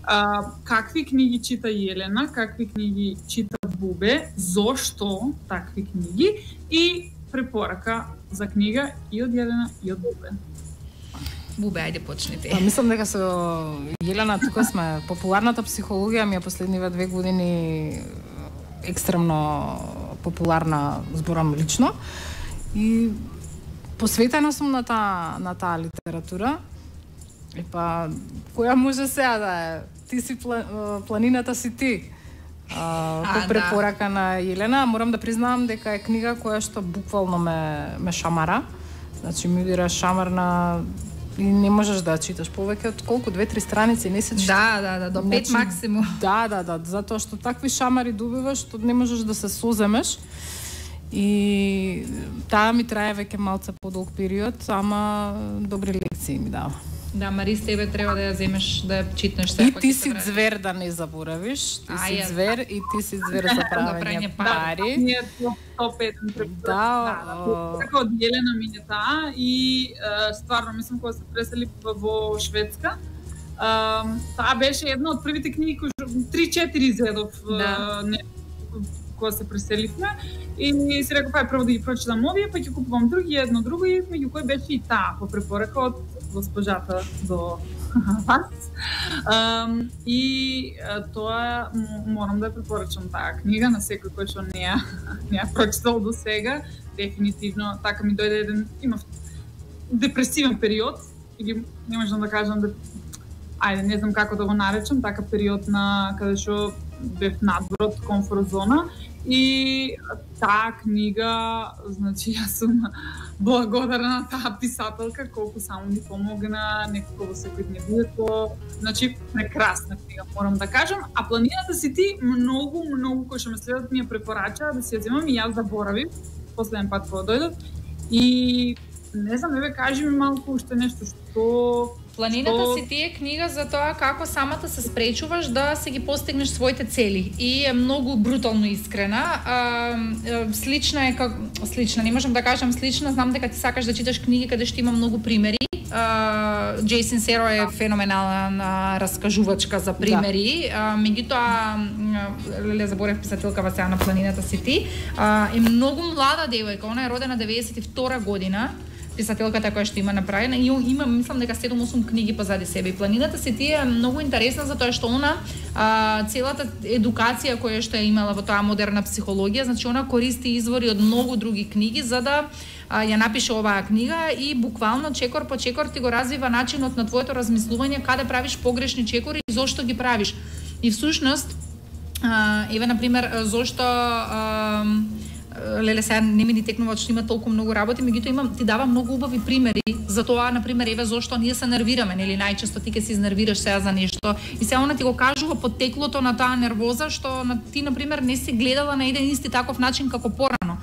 S11: А, какви книги чита Јелена, какви книги чита Бубе, зошто такви книги и препорака за книга и од Јелена и од Бубе.
S9: Бубе, ајде почнете.
S10: Па, мислам дека со Јелена тука сме популарната психологија ми е последниве две години екстремно популарна, зборам лично. И посветена сум на таа на таа литература. И па која може сега да е? Ти си планината си ти. А, по
S9: а,
S10: препорака
S9: да.
S10: на Јелена, морам да признавам дека е книга која што буквално ме ме шамара. Значи ми удира шамар на и не можеш да читаш повеќе од колку две-три страници, не се чита.
S9: Да, да, да, до пет
S10: значи,
S9: максимум.
S10: Да, да, да, затоа што такви шамари добиваш што не можеш да се соземеш. И таа ми трае веќе малце подолг период, ама добри лекции ми дава.
S9: Да, Марис, тебе треба да ја земеш, да ја читнеш
S10: сега. И ти си звер, да не заборавиш. Ти а, си звер и ти си звер за правење пари.
S11: Ние топ еден препорък.
S10: Да,
S11: така од Јелена ми е таа и стварно мислам кога се пресели во Шведска, таа беше една од првите книги кои три-четири зедов кога се преселивме и си реков, ај прво да ги прочитам овие, па ќе купувам други, едно друго и меѓу кои беше и таа по препорака од госпожата до вас. Um, и uh, тоа морам да препорачам таа книга на секој кој што не ја не ја прочитал до сега. Дефинитивно така ми дојде еден имав депресивен период или не можам да кажам да ајде не знам како да го наречам, така период на каде што бев надвор од комфорт зона и таа книга, значи јас сум благодарна на таа писателка колку само ми помогна некако во секојдневието. Значи прекрасна книга, морам да кажам, а планината си ти многу многу кои што ме следат ми ја препорачаа да си ја земам и јас заборавив последен пат кога дојдов и не знам, еве кажи ми малку уште нешто што
S9: Планината
S11: што...
S9: си ти е книга за тоа како самата се спречуваш да се ги постигнеш своите цели и е многу брутално искрена. А, слична е как слична, не можам да кажам слична, знам дека ти сакаш да читаш книги каде што има многу примери. Џеј Синсеро е феноменална раскажувачка за примери. Да. Меѓутоа, леле заборев писателкава сега на Планината си ти, а, е многу млада девојка, она е родена деветдесет и втора година. Писателката која што има направена и има мислам дека седум-осум книги позади себе. И Планината си ти е многу интересна затоа што она а, целата едукација која што е имала во тоа модерна психологија, значи она користи извори од многу други книги за да а, ја напише оваа книга и буквално чекор по чекор ти го развива начинот на твоето размислување, каде правиш погрешни чекори и зошто ги правиш. И всушност а, еве на пример зошто а, леле сега не ми ни текнува што има толку многу работи, меѓутоа имам ти дава многу убави примери за тоа, на пример, еве зошто ние се нервираме, нели најчесто ти ќе се изнервираш сега за нешто и сега она ти го кажува поттеклото на таа нервоза што на ти на пример не си гледала на еден исти таков начин како порано.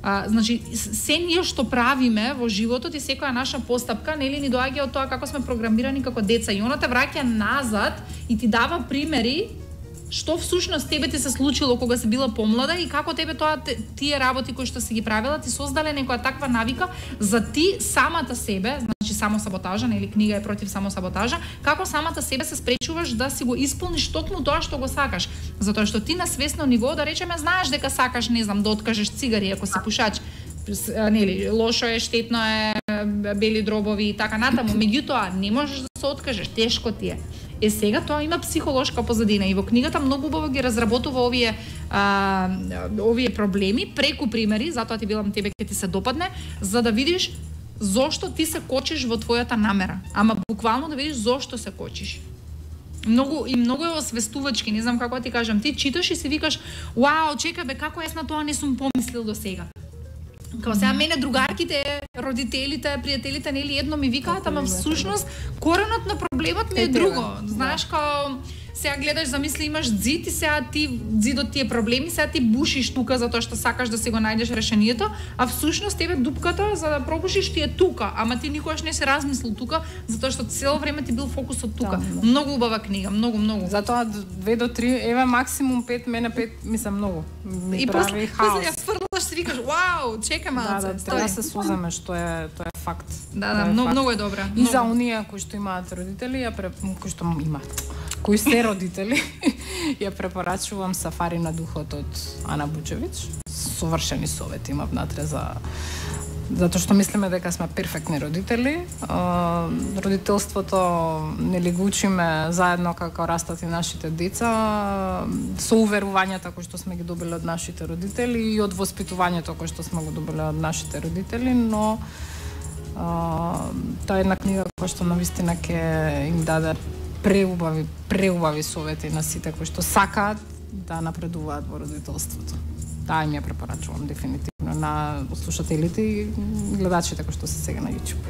S9: А, значи се ние што правиме во животот и секоја наша постапка нели ни доаѓа од тоа како сме програмирани како деца и она те враќа назад и ти дава примери што всушност тебе ти се случило кога си била помлада и како тебе тоа тие работи кои што си ги правила ти создале некоја таква навика за ти самата себе, значи самосаботажа, нели книга е против самосаботажа, како самата себе се спречуваш да си го исполниш токму тоа што го сакаш, затоа што ти на свесно ниво да речеме знаеш дека сакаш, не знам, да откажеш цигари ако си пушач, нели лошо е, штетно е, бели дробови и така натаму, меѓутоа не можеш да се откажеш, тешко ти е. Е сега тоа има психолошка позадина и во книгата многу убаво ги разработува овие а, овие проблеми преку примери, затоа ти билам тебе ќе ти се допадне, за да видиш зошто ти се кочиш во твојата намера, ама буквално да видиш зошто се кочиш. Многу и многу е освестувачки, не знам како да ти кажам, ти читаш и си викаш, вау, чекај бе, како јас на тоа не сум помислил до сега. Као сега мене другарките, родителите, пријателите нели едно ми викаат, ама всушност коренот на проблемот ми е друго. Знаеш, као сега гледаш, замисли имаш ѕид и сега ти ѕидот ти е проблеми, сега ти бушиш тука затоа што сакаш да си го најдеш решението, а всушност тебе дупката за да пробушиш ти е тука, ама ти никогаш не се размислил тука, затоа што цело време ти бил фокусот тука. Да, да. Многу убава книга, многу, многу.
S10: Затоа две до три, еве максимум пет, мене пет мислам многу. Ми
S9: и
S10: прави хаос.
S9: И после ја фрлаш си викаш, вау, чека малце.
S10: Да, да, треба да се суземе, што е тоа е факт.
S9: Да, да, многу, многу е добра.
S10: И за оние кои што имаат родители, ја пре... кои што имаат кои се родители, ја препорачувам Сафари на духот од Ана Бучевич. Совршени совети има внатре за затоа што мислиме дека сме перфектни родители. Родителството нели го учиме заедно како растат и нашите деца, со уверувањата кои што сме ги добили од нашите родители и од воспитувањето кој што сме го добили од нашите родители, но тоа е една книга која што навистина ќе им даде преубави, преубави совети на сите кои што сакаат да напредуваат во родителството. Таа им ја препорачувам дефинитивно на слушателите и гледачите кои што се сега на YouTube.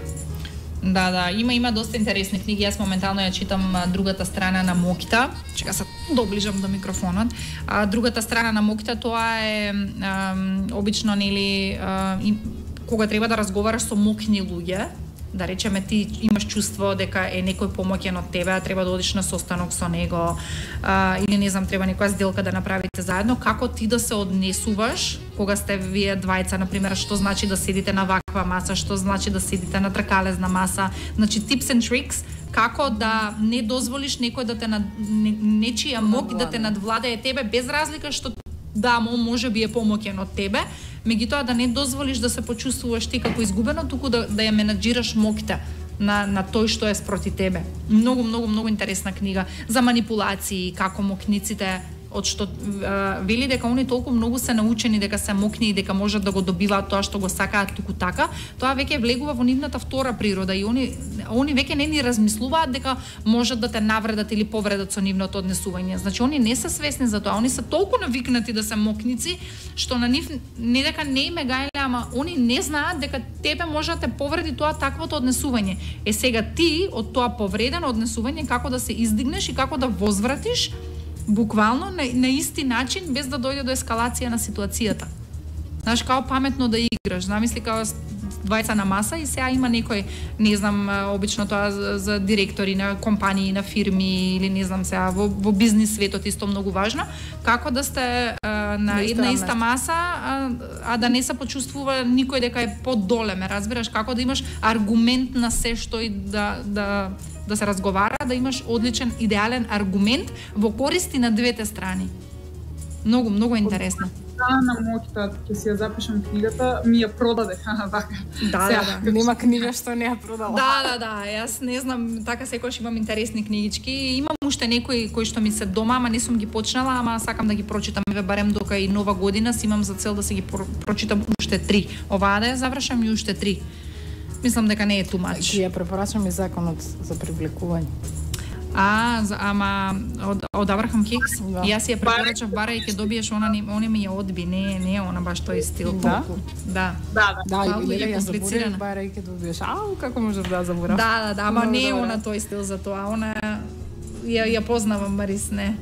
S9: Да, да, има има доста интересни книги. Јас моментално ја читам Другата страна на Мокита. Чека се доближам до микрофонот. А Другата страна на Мокита тоа е а, обично нели а, и, кога треба да разговараш со мокни луѓе, да речеме ти имаш чувство дека е некој помоќен од тебе, треба да одиш на состанок со него, а, или не знам, треба некоја сделка да направите заедно, како ти да се однесуваш кога сте вие двајца, например, што значи да седите на ваква маса, што значи да седите на тркалезна маса, значи tips and tricks, како да не дозволиш некој да те над... не, нечија мок да те надвладае тебе без разлика што да, може би е помоќен од тебе, меѓутоа да не дозволиш да се почувствуваш ти како изгубено, туку да, да ја менаџираш моките на, на тој што е спроти тебе. Многу, многу, многу интересна книга за манипулации, како мокниците, од што е, вели дека они толку многу се научени дека се мокни и дека можат да го добиваат тоа што го сакаат туку така, тоа веќе влегува во нивната втора природа и они они веќе не ни размислуваат дека можат да те навредат или повредат со нивното однесување. Значи они не се свесни за тоа, они се толку навикнати да се мокници што на нив не дека не им е гајле, ама они не знаат дека тебе може да те повреди тоа таквото однесување. Е сега ти од тоа повредено однесување како да се издигнеш и како да возвратиш буквално на, на исти начин без да дојде до ескалација на ситуацијата. Знаеш, као паметно да играш. Замисли као двајца на маса и сега има некој, не знам, обично тоа за, за директори на компании, на фирми или не знам сега, во, во бизнис светот исто многу важно, како да сте а, на една иста маса, а, а да не се почувствува никој дека е подоле, ме разбираш, како да имаш аргумент на се што и да, да да се разговара, да имаш одличен, идеален аргумент во користи на двете страни. Многу, многу интересно.
S11: Да, на Мокита, ќе си ја запишам книгата, ми ја продаде, така.
S10: Да, да, да, нема книга што не ја продала.
S9: Да, да, да, јас не знам, така секогаш имам интересни книгички. Имам уште некои кои што ми се дома, ама не сум ги почнала, ама сакам да ги прочитам, еве барем дока и нова година, си имам за цел да се ги прочитам уште три. Оваа да ја завршам и уште три. Мислам дека не е too much.
S10: Ќе ја препорачам и законот за привлекување.
S9: А, за, ама од, од Абрахам Хикс, да. Јас ја препорачав бара и ќе добиеш, она не, она ми ја одби, не не е она баш тој стил
S10: да?
S9: толку. Да.
S11: Да, да.
S10: Да, и ја заборев бара и ќе добиеш. Ау, како можеш да заборав?
S9: Да, да, да, ама не е она тој стил за тоа. Она ја ја познавам Марис, не.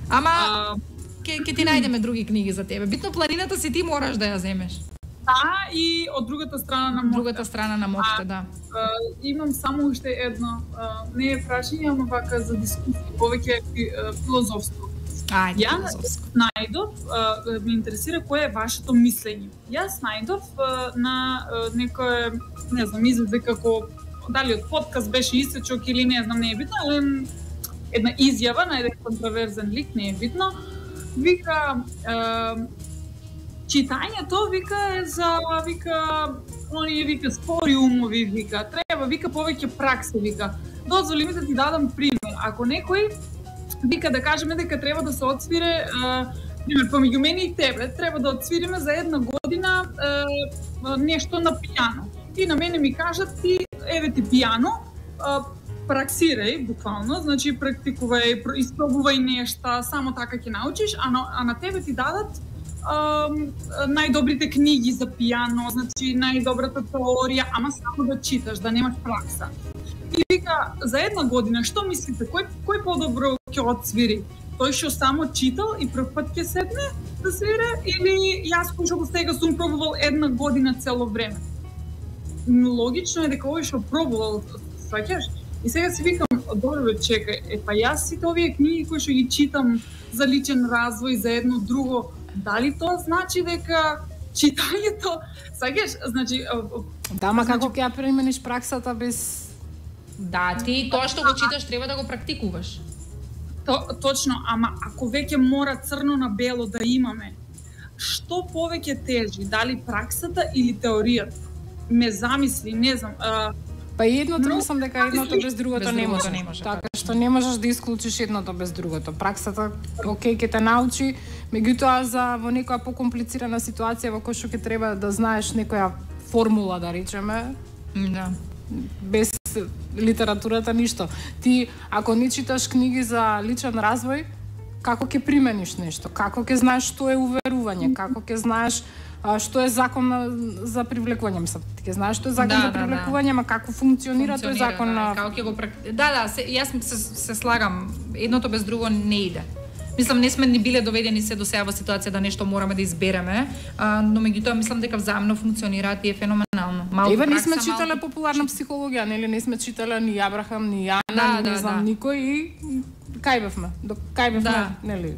S9: Ама ќе ќе ти најдеме други книги за тебе. Битно планината си ти мораш да ја земеш.
S11: Да, и од другата страна на Мокита.
S9: Другата страна на Мокита, да.
S11: А, имам само уште едно, а, не е прашање, ама вака за дискусија, повеќе филозофско.
S9: Ајде,
S11: Ја
S9: филозофско.
S11: најдов, а, ме интересира кое е вашето мислење. Јас најдов а, на а, некој, не знам, изведе како, дали од подкаст беше исечок или не знам, не е битно, але една изјава на еден контроверзен лик, не е битно. Вика, а, читањето, вика, е за, вика, оние вика спори умови, вика, треба вика повеќе пракса, вика. Дозволи ми да ти дадам пример. Ако некој вика да кажеме дека треба да се отсвире, а, пример помеѓу мене и тебе, треба да отсвириме за една година а, нешто на пијано. И на мене ми кажат ти еве ти пијано, а, праксирај буквално, значи практикувај, испробувај нешта, само така ќе научиш, а на, а на тебе ти дадат Um, најдобрите книги за пијано, значи најдобрата теорија, ама само да читаш, да немаш пракса. И вика, за една година, што мислите, кој, кој подобро ќе отсвири? Тој што само читал и прв пат ќе седне да свире, или јас кој што сега сум пробувал една година цело време? Логично е дека овој што пробувал, сваќаш? И сега си викам, добро, чекај, е па јас сите овие книги кои што ги читам за личен развој, за едно друго, дали тоа значи дека читањето, сакаш, значи
S10: да, ма како ќе ја примениш праксата без
S9: да, ти тоа што го читаш треба да го практикуваш.
S11: То, точно, ама ако веќе мора црно на бело да имаме, што повеќе тежи, дали праксата или теоријата? Ме замисли, не знам, а,
S10: па и едното, но, мислам дека едното без другото
S9: без
S10: не
S9: другото
S10: може.
S9: Не може
S10: така што не можеш да исклучиш едното без другото. Праксата, окей, ќе те научи, меѓутоа за во некоја покомплицирана ситуација во која што ќе треба да знаеш некоја формула, да речеме.
S9: Да.
S10: Без литературата ништо. Ти ако не читаш книги за личен развој, како ќе примениш нешто? Како ќе знаеш што е уверување? Како ќе знаеш а, што е закон на, за привлекување? Мислам, ти ќе знаеш што е закон
S9: да,
S10: за
S9: да,
S10: привлекување, ама како функционира, тој закон
S9: да,
S10: на
S9: како ќе го практи... Да, да, се, јас се, се слагам, едното без друго не иде. Мислам, не сме ни биле доведени се до сега во ситуација да нешто мораме да избереме, а, но меѓутоа мислам дека взаимно функционираат и е феноменално. Малку
S10: Ева, не сме
S9: пракса,
S10: читале
S9: малку...
S10: популарна психологија, нели? Не сме читале ни Абрахам, ни Јана,
S9: да,
S10: ни не
S9: да,
S10: знам
S9: да.
S10: никој и кај бевме. До кај бевме,
S9: Да.
S10: нели?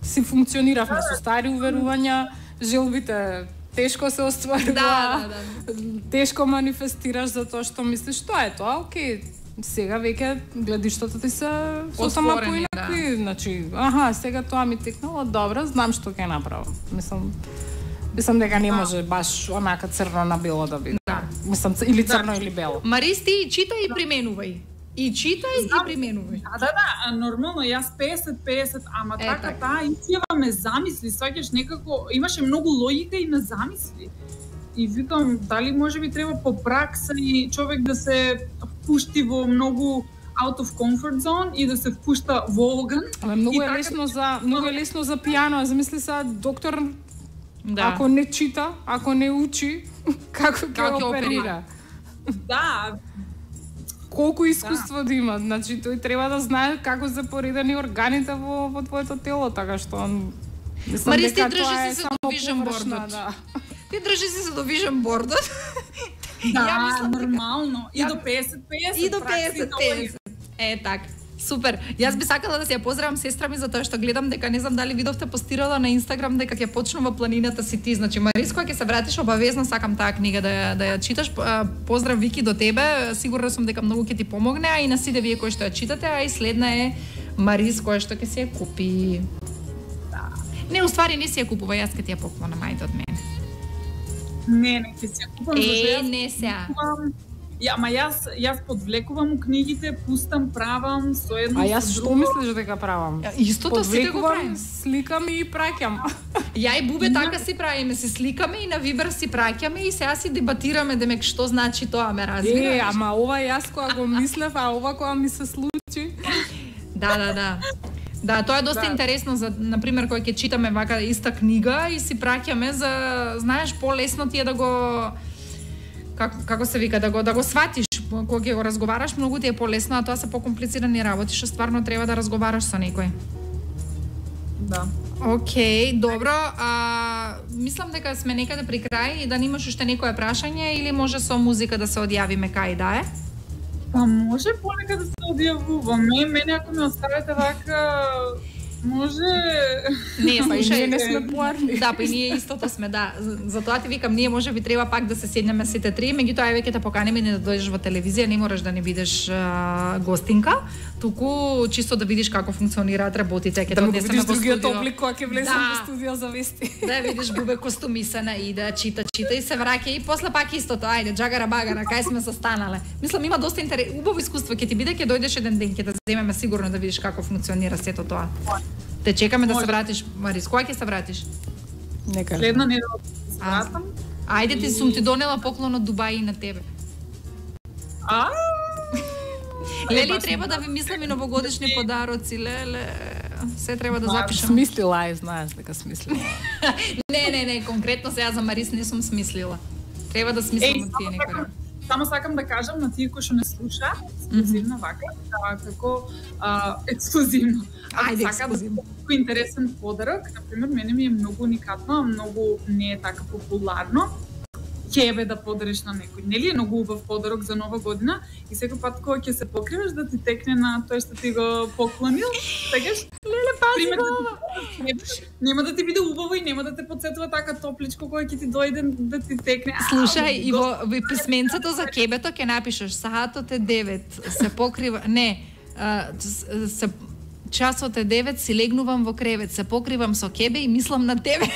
S10: Си функциониравме со стари уверувања, желбите тешко се остварува,
S9: Да, да, да.
S10: тешко манифестираш за тоа што мислиш, тоа е тоа, окей. Сега веќе гледиштата ти се сосема
S9: Отворени,
S10: поинакви, значи, аха, сега тоа ми текнало, добро, знам што ќе направам. Мислам, мислам дека не може баш онака црно на бело да биде.
S9: Да.
S10: Мислам, или црно или бело.
S9: Марис, ти читај и применувај. И читај и применувај.
S11: Да, да, да, нормално, јас песет песет, ама
S9: Е,
S11: така,
S9: така.
S11: таа изјава ме замисли, сваќаш некако, имаше многу логика и ме замисли. И викам, дали може би треба по пракса и човек да се впушти во многу out of comfort zone и да се впушта во оган.
S10: Ама многу
S11: И
S10: е
S11: така-
S10: лесно за многу е лесно за пијано, замисли се доктор
S9: Да.
S10: ако не чита, ако не учи, како ќе
S9: Како ќе
S10: оперира?
S11: Да,
S10: Колку искуство да има, значи тој треба да знае како се поредени органите во во твоето тело, така што он мислам
S9: Марис, ти
S10: дека
S9: држи
S10: тоа е
S9: си се
S10: само
S9: до вижен
S10: површна,
S9: бордот.
S10: да.
S9: Ти држи си се до вижен бордот.
S11: да,
S9: Ја мислам дека-
S11: нормално. И
S9: Ја-
S11: до песет песет.
S9: И до
S11: пракса,
S9: песет
S11: и до-
S9: песет. Е, така. Супер. Јас би сакала да се ја поздравам сестра ми за тоа што гледам дека не знам дали видовте постирала на Инстаграм дека ќе почнува планината си ти. Значи Марис, кога ќе се вратиш обавезно сакам таа книга да ја, да ја читаш. А, Поздрав Вики до тебе. Сигурна сум дека многу ќе ти помогне, а и на сите вие кои што ја читате, а и следна е Марис која што ќе се ја купи. Да. Не, уствари не си ја купува, јас ќе ти ја поклона мајта од мене.
S11: Не, не, ќе се ја купам.
S9: Е,
S11: зашто јас
S9: не сега.
S11: купувам- Ја, ама јас јас подвлекувам книгите, пустам, правам со едно
S10: А
S11: со
S10: јас што
S11: друго.
S10: мислиш дека правам?
S9: Истото сите го
S10: Подвлекувам,
S9: правим.
S10: сликам и праќам.
S9: Ја и Бубе така си правиме, се сликаме и на Вибер си праќаме и сега си дебатираме демек што значи тоа, ме
S10: Е,
S9: разбираш?
S10: ама ова јас кога го мислев, а ова кога ми се случи.
S9: Да, да, да. Да, тоа е доста
S11: Да.
S9: интересно за на пример кога ќе читаме вака иста книга и си праќаме за знаеш полесно ти е да го како како се вика да го да го сватиш кога ќе го разговараш, многу ти е полесно, а тоа се покомплицирани работи што стварно треба да разговараш со некој.
S11: Да.
S9: Океј, добро. А, мислам дека сме некаде при крај и да немаш уште некое прашање или може со музика да се одјавиме кај да е?
S11: Па може понекад да се одјавуваме. Мене ако ме оставите вака Може.
S9: Не,
S10: Па и
S9: слушај,
S10: ние не сме поарни.
S9: Да, па и ние истото сме, да. Затоа ти викам, ние може би треба пак да се седнеме сите три, меѓутоа еве ќе те поканеме не да дојдеш во телевизија, не мораш да не бидеш а, гостинка, туку чисто да видиш како функционираат работите, ќе
S10: Да
S9: те
S10: го
S9: однесеме
S10: видиш
S9: во
S10: другиот
S9: студио.
S10: облик кога ќе влезем
S9: Да.
S10: во студио за вести.
S9: Да видиш Бубе костумисана и да чита, чита и се враќа и после пак истото, ајде, джагара багара, кај сме застанале. Мислам има доста интерес, убаво искуство ќе ти биде, ќе дојдеш еден ден, ќе те земеме сигурно да видиш како функционира сето тоа. Те чекаме да се вратиш, Марис. Кога ќе се вратиш?
S10: Нека.
S11: Следна недела ќе се вратам.
S9: Ајде ти сум ти донела поклон од Дубај и на тебе.
S11: А?
S9: Лели треба да ви мислиме новогодишни подароци, леле. Се треба да запишам.
S10: Смислила е, знаеш дека смислила.
S9: Не, не, не, конкретно сега за Марис не сум смислила. Треба да смислам
S11: Еј,
S9: од тие
S11: само
S9: некои.
S11: сакам- Само сакам да кажам на тие кои што не слуша, ексклузивно вака, да, како а, ексклузивно.
S9: Ајде,
S11: Сакам
S9: ексклузивно.
S11: да како интересен подарок, например, мене ми е многу уникатно, многу не е така популарно. Ќе да подариш на некој, нели е многу убав подарок за нова година и секој пат кога ќе се покриваш да ти текне на тој што ти го поклонил, сакаш?
S9: Леле, пази
S11: Пример,
S9: го
S11: да
S9: ова.
S11: ти- Нема да ти биде убаво и нема да те потсетува така топличко кога ќе ти дојде да ти текне. А,
S9: Слушај, и во, во писменцето за кебето ќе напишеш саатот е девет, се покрива, не, а, с- се часот е девет, си легнувам во кревет, се покривам со кебе и мислам на тебе.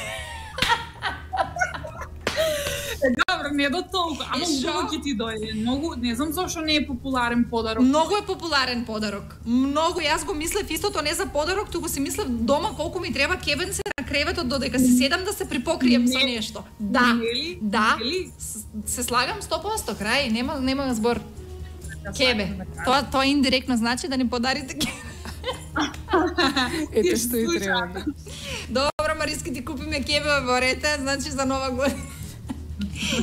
S11: Добро, не до толку, ама
S9: Е, шо?
S11: убаво ќе ти дојде. Многу, не знам зошто не е популарен подарок.
S9: Многу е популарен подарок. Многу, јас го мислев истото не за подарок, туку си мислев дома колку ми треба кебенце на креветот додека се седам да се припокрием со
S11: Не.
S9: нешто. Да,
S11: Нели?
S9: да,
S11: Нели?
S9: с- се слагам сто проценти крај, нема нема збор. Кебе.
S11: сакам да кажам.
S9: Тоа тоа индиректно значи да ни подарите кебе.
S10: Ете што и треба.
S9: Добро, Мариски, ти купиме кебе во рете, значи за нова година.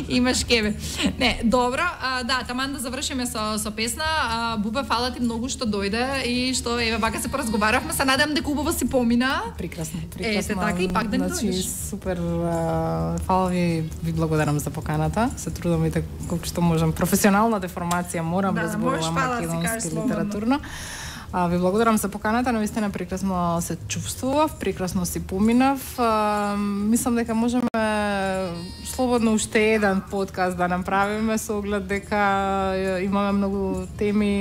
S9: Имаш кебе. Не, добро, а, да, таман да завршиме со, со песна. А, Бубе, фала ти многу што дојде и што, еве, вака се поразговаравме, се надам дека убаво си помина.
S10: Прекрасно,
S9: Ете,
S10: прекрасно.
S9: така и пак да ни
S10: Значи,
S9: дојдеш.
S10: супер, а, фала ви, ви благодарам за поканата. Се трудам и така колку што можам. Професионална деформација, морам
S9: Да,
S10: да
S9: можеш
S10: зборувам
S9: фала да си кажеш
S10: македонски
S9: слободно.
S10: литературно. А, ви благодарам за поканата, наистина прекрасно се чувствував, прекрасно си поминав. А, мислам дека можеме слободно уште еден подкаст да направиме со оглед дека е, имаме многу теми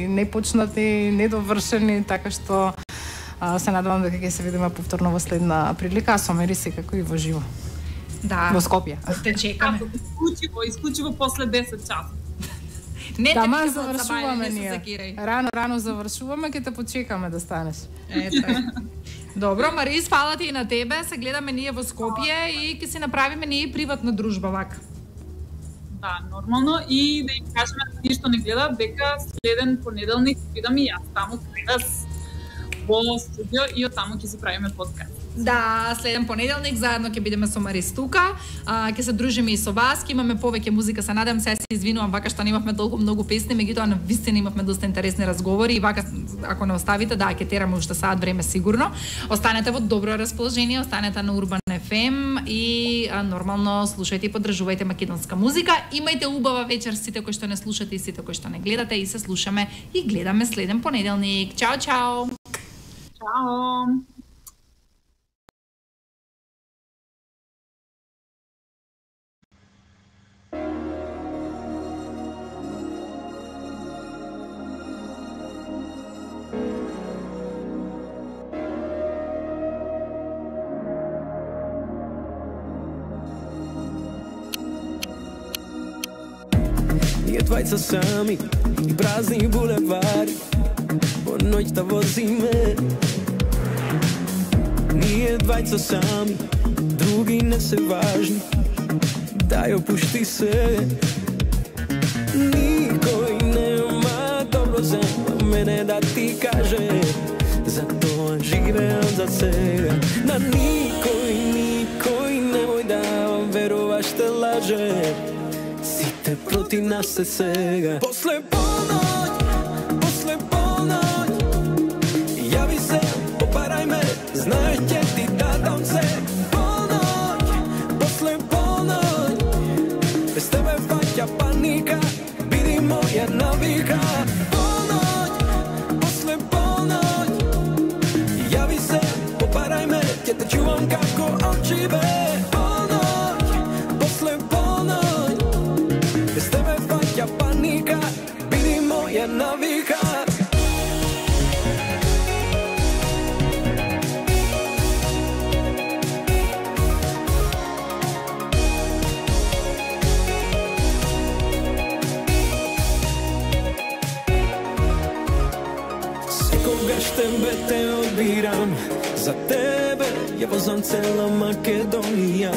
S10: непочнати, недовршени, така што а, се надевам дека ќе се видиме повторно во следна прилика, а со Мери секако и во живо.
S9: Да.
S10: Во Скопје.
S9: Те чекаме.
S11: Исклучиво, исклучиво после десет часот.
S9: Не,
S10: Да,
S9: те
S10: ма
S9: викам од
S10: завршуваме
S9: забајане, не се
S10: ние.
S9: закирај.
S10: Рано, рано завршуваме, ќе те почекаме да станеш.
S9: Ето. Добро, Марис, фала ти и на тебе. Се гледаме ние во Скопје и ќе си направиме ние приватна дружба вака.
S11: Да, нормално и да им кажеме на тие што не гледаат дека следен понеделник бидам и јас таму кај вас во студио и од таму ќе си правиме подкаст.
S9: Да, следен понеделник заедно ќе бидеме со Марис тука, а, ќе се дружиме и со вас, ќе имаме повеќе музика, се надам, се се извинувам вака што немавме толку многу песни, меѓутоа на вистина имавме доста интересни разговори и вака ако не оставите, да, ќе тераме уште саат време сигурно. Останете во добро расположение, останете на Урбан еф ем и а, нормално слушајте и поддржувајте македонска музика. Имајте убава вечер сите кои што не слушате и сите кои што не гледате и се слушаме и гледаме следен понеделник. Чао, чао.
S11: Чао.
S12: Ние двајца сами и празни булевари по ноќта возиме. Ние двајца сами, други не се важни. Дај опушти се. Никој нема добро за мене да ти каже. Затоа живеам за сега. На никој, никој немој да веруваш те лаже. Сите проти нас се сега. После полноќ, после полноќ, јави се, попарај ме, знаеш ќе ти дадам се. Полноќ, после полноќ, без тебе фаќа паника, биди моја навика. Полноќ, после полноќ, јави се, чувам како очи бе. Полноќ, после полноќ, без тебе фаќа паника, биди моја навика. Тебе те одбирам, за тебе ја возам цела Македонија,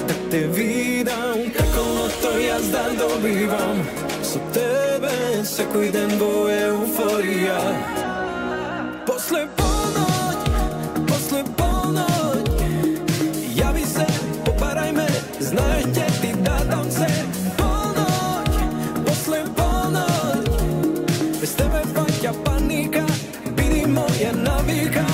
S12: да те видам како лото јас да добивам, со тебе секој ден во еуфорија. После полноќ, после полноќ, јави се, попарај ме, знаеш ќе ти дадам се. Полноќ, после полноќ, без тебе фаќа паника, моја навика.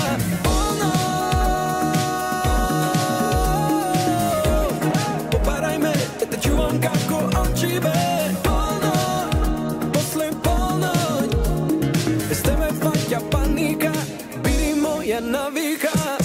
S12: Попарај ме, да те чувам како очи бе. Полноќ, после полноќ, без тебе фаќа паника, биди моја навика.